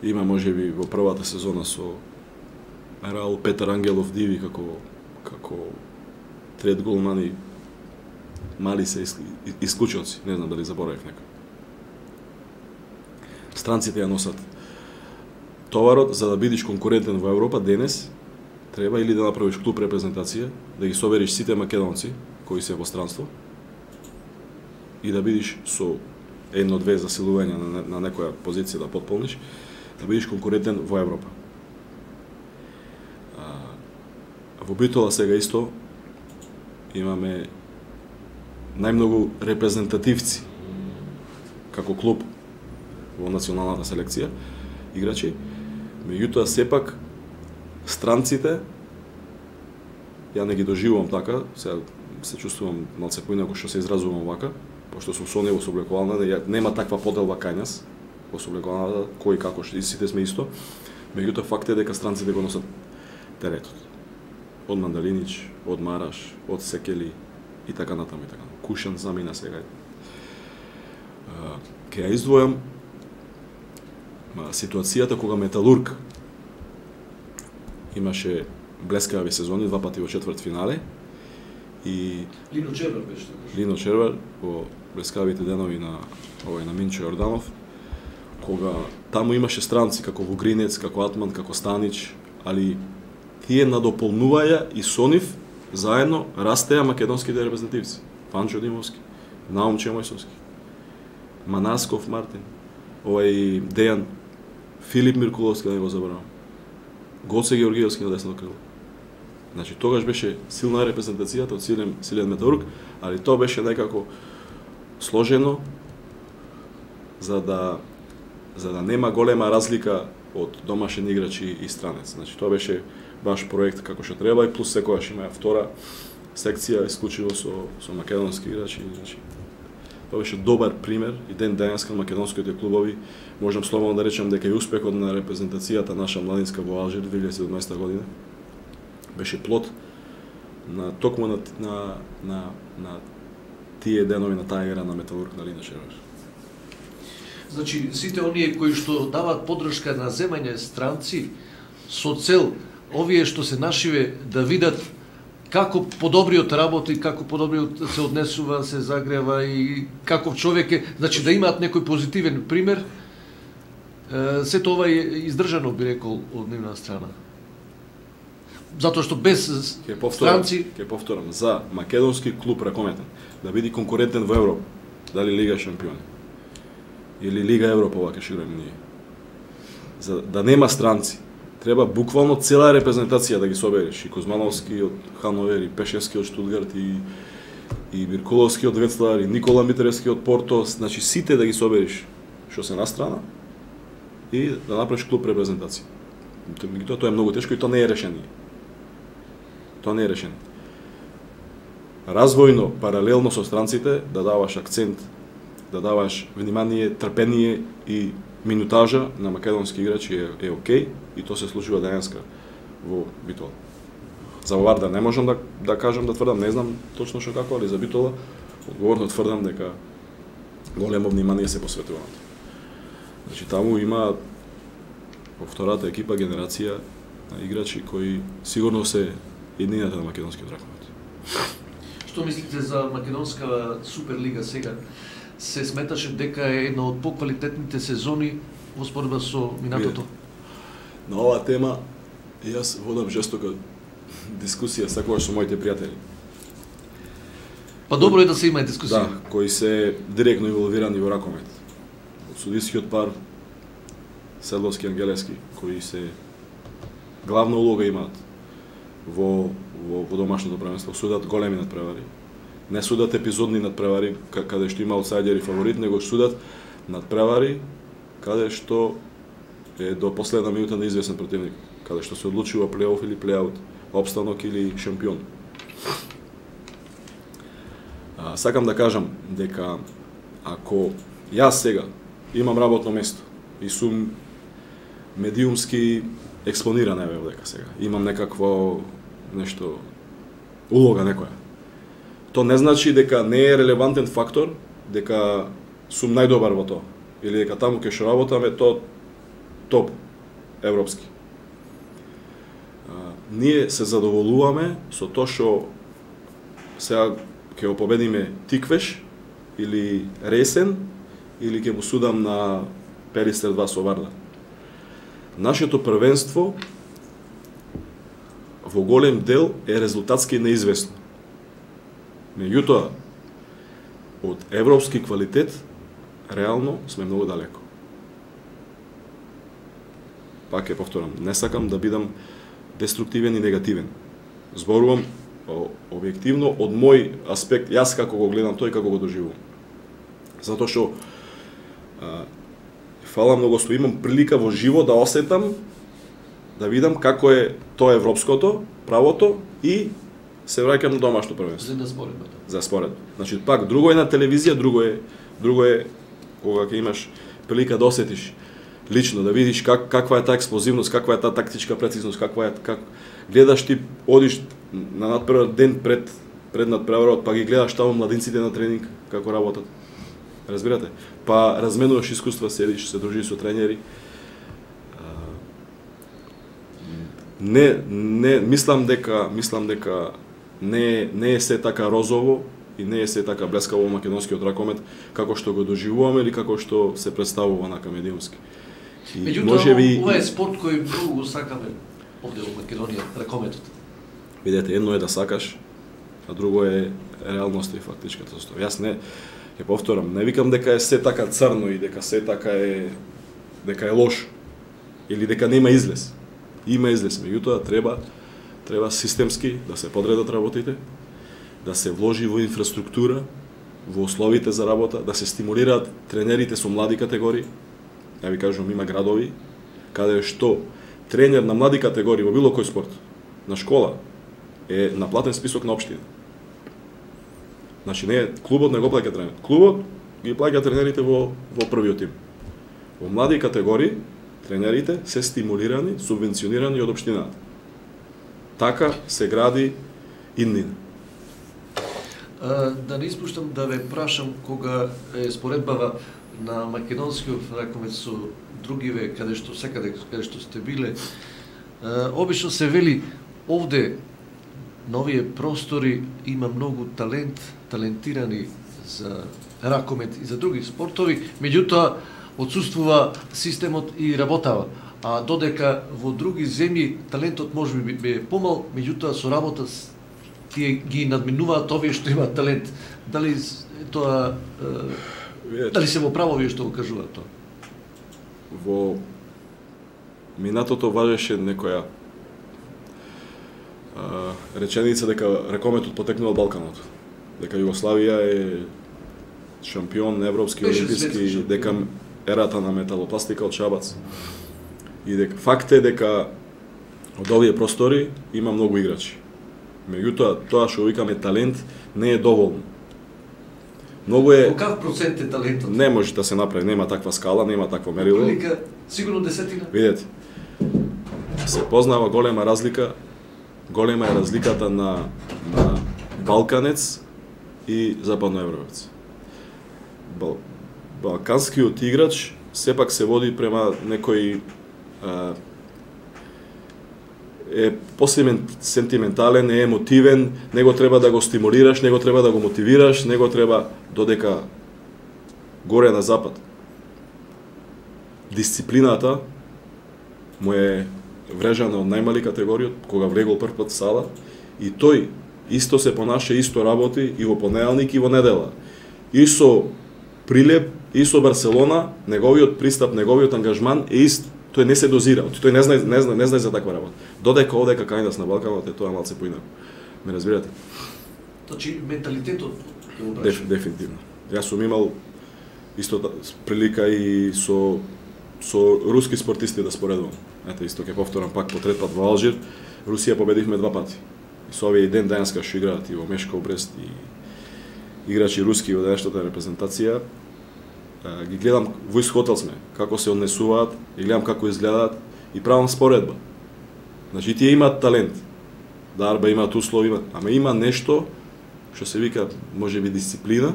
Има можеби во првата сезона со Раул Петар Ангелов Диви како трет голман и мали се исклучоци, не знам дали заборавив некој. Странците ја носат товарот. За да бидеш конкурентен во Европа денес, треба или да направиш клуб репрезентација, да ги собериш сите македонци кои се во странство и да бидеш со едно-две засилувања на некоја позиција да потполниш, да бидеш конкурентен во Европа. Во Битола сега исто имаме најмногу репрезентативци како клуб во националната селекција, играчи. Меѓутоа, сепак, странците, ја не ги доживувам така, сега се чувствувам малце поинаку што се изразувам вака, пошто сум со него соблекувална, нема таква поделба кај нас, во соблекувалната, кој како што сите сме исто. Меѓутоа, факт е дека странците го носат теретот. Од Мандалинич, од Мараш, од Секели и така натаму и така. Кушан замина сега. Ке ја издвојам ситуацијата кога Металург имаше блескави сезони, два пати во четврт финале и Лино Червар беше. Лино Червар во блескавите денови на на Минчо Јорданов, кога таму имаше странци како Вугринец, како Атман, како Станич, али тие надополнуваја и со нив заедно растеа македонските репрезентативци. Панчо Димовски, Наум Чемојсовски, Манасков Мартин, Дејан, Филип Миркуловски, да не го заборавам, Гоце Георгиевски на десно крило. Значи, тогаш беше силна репрезентацијата од силен Металург, али тоа беше некако сложено за да нема голема разлика од домашен играч и странец. Значи, тоа беше баш проект како што треба и плюс секогаш има втора секција исклучиво со македонски играчи. Значи, тоа беше добар пример и ден денеска на македонските клубови. Можам слободно да речем дека и успехот на репрезентацијата наша младинска во Алжир 2017 година беше плод на токму на тие денови на таа ера на Металург на Лино Червар. Значи, сите оние кои што даваат поддршка на земање странци со цел овие што се нашиве да видат како подобриот работи, како подобриот се однесува, се загрева и каков човек е, значи да имаат некој позитивен пример, се тоа е издржано, би рекол, од нивна страна. Затоа што без странци... Ке повторам, за македонски клуб ракометен да биде конкурентен во Европа, дали Лига шампиони или Лига Европа, вака ќе играеме ние. За да нема странци, треба буквално цела репрезентација да ги собереш. И Кузмановски од Хановер, и Пешевски од Штутгарт, и Миркуловски од Ветслар, и Никола Митревски од Порто, значи сите да ги собереш што се настрана и да направиш клуб репрезентација. Тоа е многу тешко и тоа не е решение. Тоа не е решение. Развојно, паралелно со странците, да даваш акцент, да даваш внимание, трпение и минутажа на македонски играчи е окей и тоа се случува денеска во Битола. За Вардар не можам да кажам, да тврдам, не знам точно што како, али за Битола одговорно тврдам дека големо внимание се посветува на тоа. Значи таму има во втората екипа генерација на играчи кои сигурно се еднината на македонскиот ракомет. Што мислите за македонска Суперлига сега? Се сметаше дека е една од поквалитетните сезони во споредба со минатото? На оваа тема јас водам жестока дискусија секогаш со моите пријатели. Па добро е да се има дискусија. Да, кои се директно инволвирани во ракомет. судискиот пар Седловски Ангелевски, кои се главна улога имаат во домашното првенство. Судат големи надпревари. Не судат епизодни надпревари каде што има аутсайдер и фаворит, него судат надпревари каде што е до последна минута неизвестен противник, каде што се одлучува плей-оф или плей-аут, опстанок или шампион. Сакам да кажам дека ако јас сега имам работно место и сум медиумски експониран дека сега, имам некакво нешто улога некоја, то не значи дека не е релевантен фактор дека сум најдобар во тоа или дека таму ќе што работаме то топ европски. Ние се задоволуваме со тоа што сега ќе го победиме Тиквеш или Ресен или ќе му судам на Перистер 2 со Вардар. Нашето првенство во голем дел е резултатски неизвестно. Меѓутоа, од европски квалитет, реално сме многу далеко. Пак ќе повторам, не сакам да бидам деструктивен и негативен. Зборувам објективно од мој аспект, јас како го гледам тој, како го доживувам. Затоа што фала многу што имам прилика во живо да осетам, да видам како е тоа европското, правото и се враќам на домашно првенство. За споредба. Значи пак друго е на телевизија, друго е кога ќе имаш прилика да осетиш лично, да видиш каква е таа експлозивност, каква е таа тактичка прецизност, как гледаш ти одиш на надпревар ден пред надпреварот, па ги гледаш таму младинците на тренинг како работат. Разбирате? Па разменуваш искуства, седиш, се дружиш со тренери. Мислам дека не е се така розово и не е се така блескаво македонскиот ракомет како што го доживуваме или како што се представува на медиумски. Меѓутоа, ова е спорт кој многу го сакаме овде во Македонија, ракометот. Видете, едно е да сакаш, а друго е реалноста и фактичката состојба. Јас ќе повторам, не викам дека е се така црно и дека се така е лошо или дека нема излез. Има излез, меѓутоа треба системски да се подредат работите, да се вложи во инфраструктура, во условите за работа, да се стимулираат тренерите со млади категории. Ја ви кажувам, има градови каде што тренер на млади категории во било кој спорт, на школа, е на платен список на општина. Значи, клубот не го плаќа тренер. Клубот ги плаќа тренерите во првиот тим. Во млади категории, тренерите се стимулирани, субвенционирани од општината. Така се гради иднина. Да не испуштам да ве прашам кога е споредбава на македонскиот ракомет со другиве каде што секаде каде што сте биле, обично се вели овде на овие простори има многу талентирани за ракомет и за други спортови, меѓутоа отсуствува системот и работава. А додека во други земји талентот можеби е помал, меѓутоа со работа тие ги надминуваат овие што имаат талент. Дали тоа дали се во право вие што го кажуваат тоа? Во минатото важеше некоја реченица дека ракометот потекнува од Балканот. Дека Југославија е шампион европски, олимписки, дека ерата на металопластика од Шабац. И дека факт е дека од овие простори има многу играчи. Меѓутоа, тоа што викаме талент не е доволно. Многу е... Каков процент е талентот? Не може да се направи, нема таква скала, нема такво мерило. Прилика, сигурно десетина. Видете, се познава голема разлика, голема е разликата на балканец и западноевропец. Балканскиот играч сепак се води према некој е посентиментален, е емотивен, него треба да го стимулираш, него треба да го мотивираш, него треба додека горе на запад. Дисциплината му е врежана од најмали категорија, кога влегол прв пат в сала, и тој исто се понаша, исто работи и во понеделник и во недела. И со прилеп и со Барселона, неговиот пристап, неговиот ангажман е ист. Тој не се дозира, тој не знае за таква работа. Додека овдека кај на Балканот е тоа малце поинаку. Ме разбирате? Значи менталитетот е обрашен. Дефинитивно. Јас сум имал исто прилика и со руски спортисти да споредувам. Ете, исто ќе повторам пак по трет пат во Алжир. Русија победивме 2 пати. И со овие ден денеска што играат и во Мешков Брест и играчи руски во денешната репрезентација, ги гледам, во хотел сме, како се однесуваат, и гледам како изгледаат и правам споредба. Значи, тие имаат талент, дарба имаат услови, ама има нешто што се вика, може би дисциплина,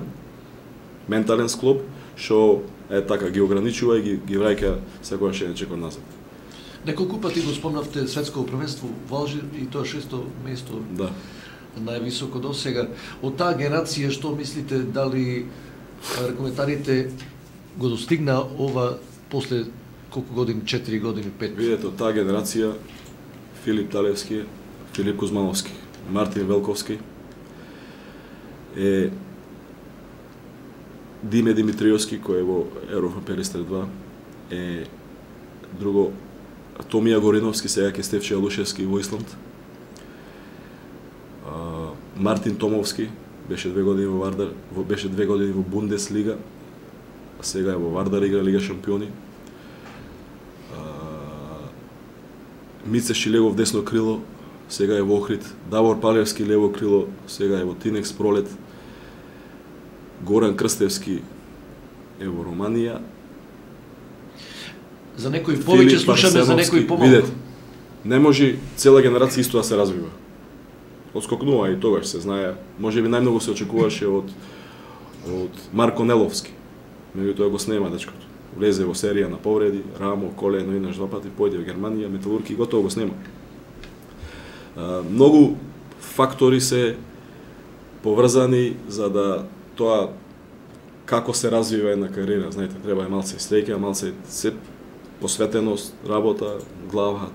ментален склоп, што така ги ограничува и ги враќа секогаш еден чекор назад. Неколку пати го спомнавте светско првенство во Алжир и тоа 6-то место. Да. Највисоко до сега. Од таа генерација што мислите, дали ракометарите го достигна ова после колку години, 4 години, 5? Видете, од таа генерација Филип Талевски, Филип Кузмановски, Мартин Велковски, Диме Димитриевски кој е во Европа Перистер 2, друго Томија Гориновски, сега ке Стефче Алушевски во Исланд, Мартин Томовски, беше 2 години во Вардар, беше 2 години во Бундеслига, а сега е во Вардар, игра Лига шампиони. Мице Шилегов десно крило, сега е во Охрид. Давор Палевски лево крило, сега е во Тинекс Пролет. Горан Крстевски е во Романија. За некои повеќе слушаме, за некои помалку. Видете, не може цела генерација исто да се развива. Отскокнува и тогаш се знае, може би најмногу се очекуваше од Марко Неловски. Меѓутоа го снема дечкото. Влезе во серија на повреди, рамо, колено, еднаш 2 пати, појде во Германија, Металурги, готово го снема. Многу фактори се поврзани за да тоа како се развива една кариера, знаете, треба е малце среќа, малце се посветеност, работа, глава.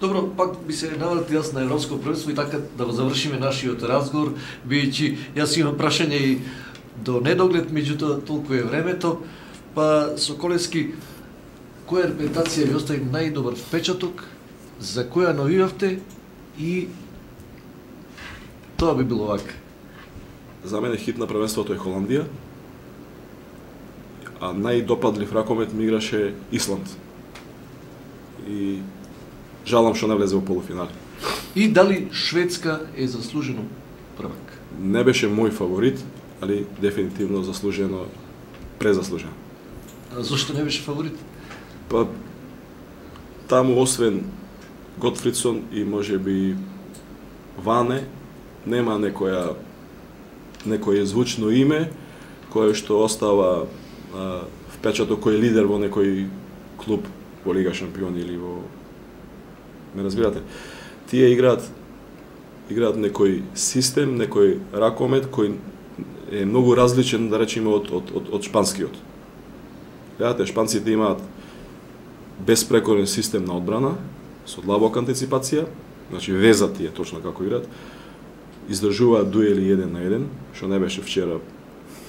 Добро, пак би се навратил јас на Европско првенство и така да го завршиме нашиот разговор, бидејќи јас имам прашање и до недоглед, меѓутоа толку е времето, па Соколевски, која репрезентација ви остави најдобар впечаток, за која навивавте и тоа би било вака? За мене хит на првенството е Холандија, а најдопадлив ракомет ми играше Исланд. И жалам што не влезе во полуфинали. И дали Шведска е заслужено првак? Не беше мој фаворит, али дефинитивно заслужено, презаслужено. А зошто не беше фаворит? Па таму освен Готфридсон и можеби Ване, нема некој звучно име кое што остава впечаток кој е лидер во некој клуб во Лига шампиони или во... Ме разбирате? Тие играат некој систем, некој ракомет кој е многу различен, да речеме, од шпанскиот. Гледате, шпанците имаат безпрекорен систем на одбрана, со длабока антиципација, значи везат тие точно како играат, издржуваат дуели 1 на 1, што не беше вчера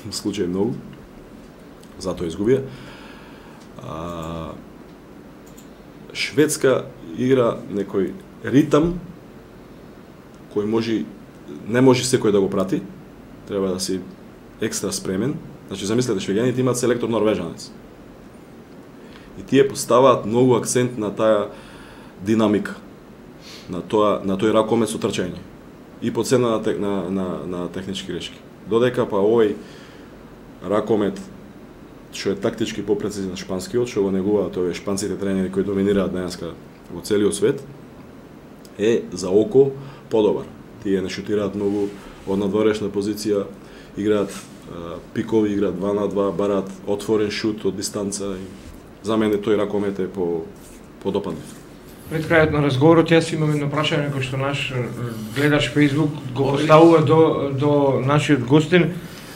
случај многу, затоа изгубија. Шведска игра некој ритам кој не може секој да го прати, треба да си екстра спремен. Значи, замислете, швеѓаните имаат селектор норвежанец. И тие поставаат многу акцент на таа динамика, на тој ракомет со трчање и по цена на технички грешки. Додека па овој ракомет што е тактички попрецизен шпанскиот, што го негуваат овие шпанците тренери кои доминираат денеска во целиот свет, е за око подобар. Тие не шутираат многу од надворешна позиција, играат пикови, играат 2 на 2, бараат отворен шут од дистанца. За мене тој ракомет е подопадлив. Пред крајот на разговорот јас имам едно прашање кој што наш гледач Facebook го поставува до нашиот гостин.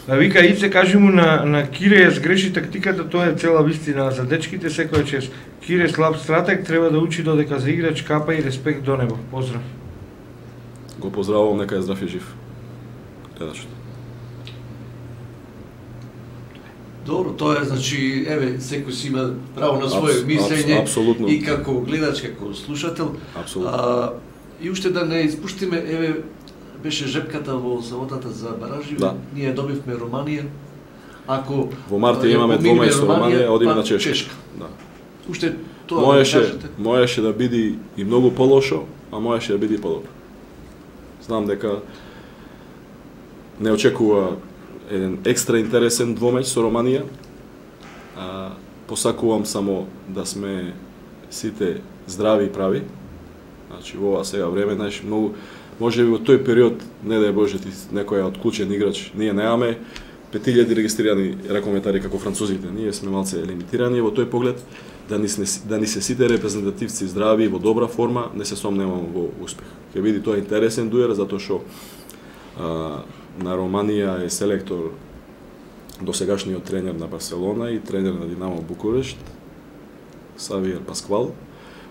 Вика, Ице, кажи му на Кире ја сгреши тактиката, тоа е цела вистина. За дечките секоја чест. Кире слаб стратег, треба да учи додека за играч капа и респект до небо. Поздрав. Го поздравувам, нека е здрав и жив. Гледачот. Добро, тоа е, значи, еве, секој си има право на свое мислење апсолутно. И како гледач, како слушател. Апсолутно. И уште да не испуштиме, еве, беше жепката во саботата за баражи, Да. ние добивме Романија. Ако Во март имаме двомеч со Романија, одиме на Чешка. Да. Уште тоа да кажете. Можеше да биде и многу полошо, а можеше да биде и подобро. Знам дека не очекува еден екстра интересен двомеч со Романија. Посакувам само да сме сите здрави и прави. Значи во ова сега време, знаеш, многу можеби во тој период, не дај Боже ти некој е отклучен играч, ние немаме 5000 регистрирани ракометари како французите. Ние сме малце лимитирани во тој поглед да ни се сите репрезентативци здрави во добра форма, не се сомневам во успех. Ќе биде тоа интересен дуел затоа што на Романија е селектор досегашниот тренер на Барселона и тренер на Динамо Букурешт, Савиер Пасквал,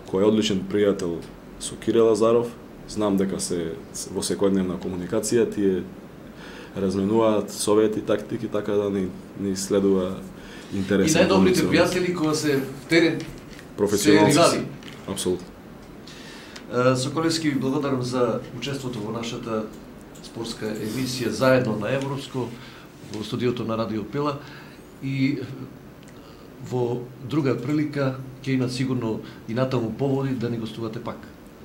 кој е одличен пријател со Кире Лазаров. Знам дека се во секојдневна комуникација, тие разменуваат совети, тактики, така да ни следува интересен. И најдобрите пријатели кога се терен професионални се ривали. Апсолутно. Соколевски, ви благодарам за учеството во нашата спортска емисија заедно на Европско во студиото на Радио Пела и во друга прилика ќе имат сигурно и натаму поводи да ни гостувате пак.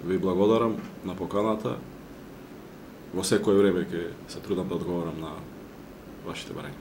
Ви благодарам на поканата. Во секој време ќе се трудам да одговорам на вашите барања.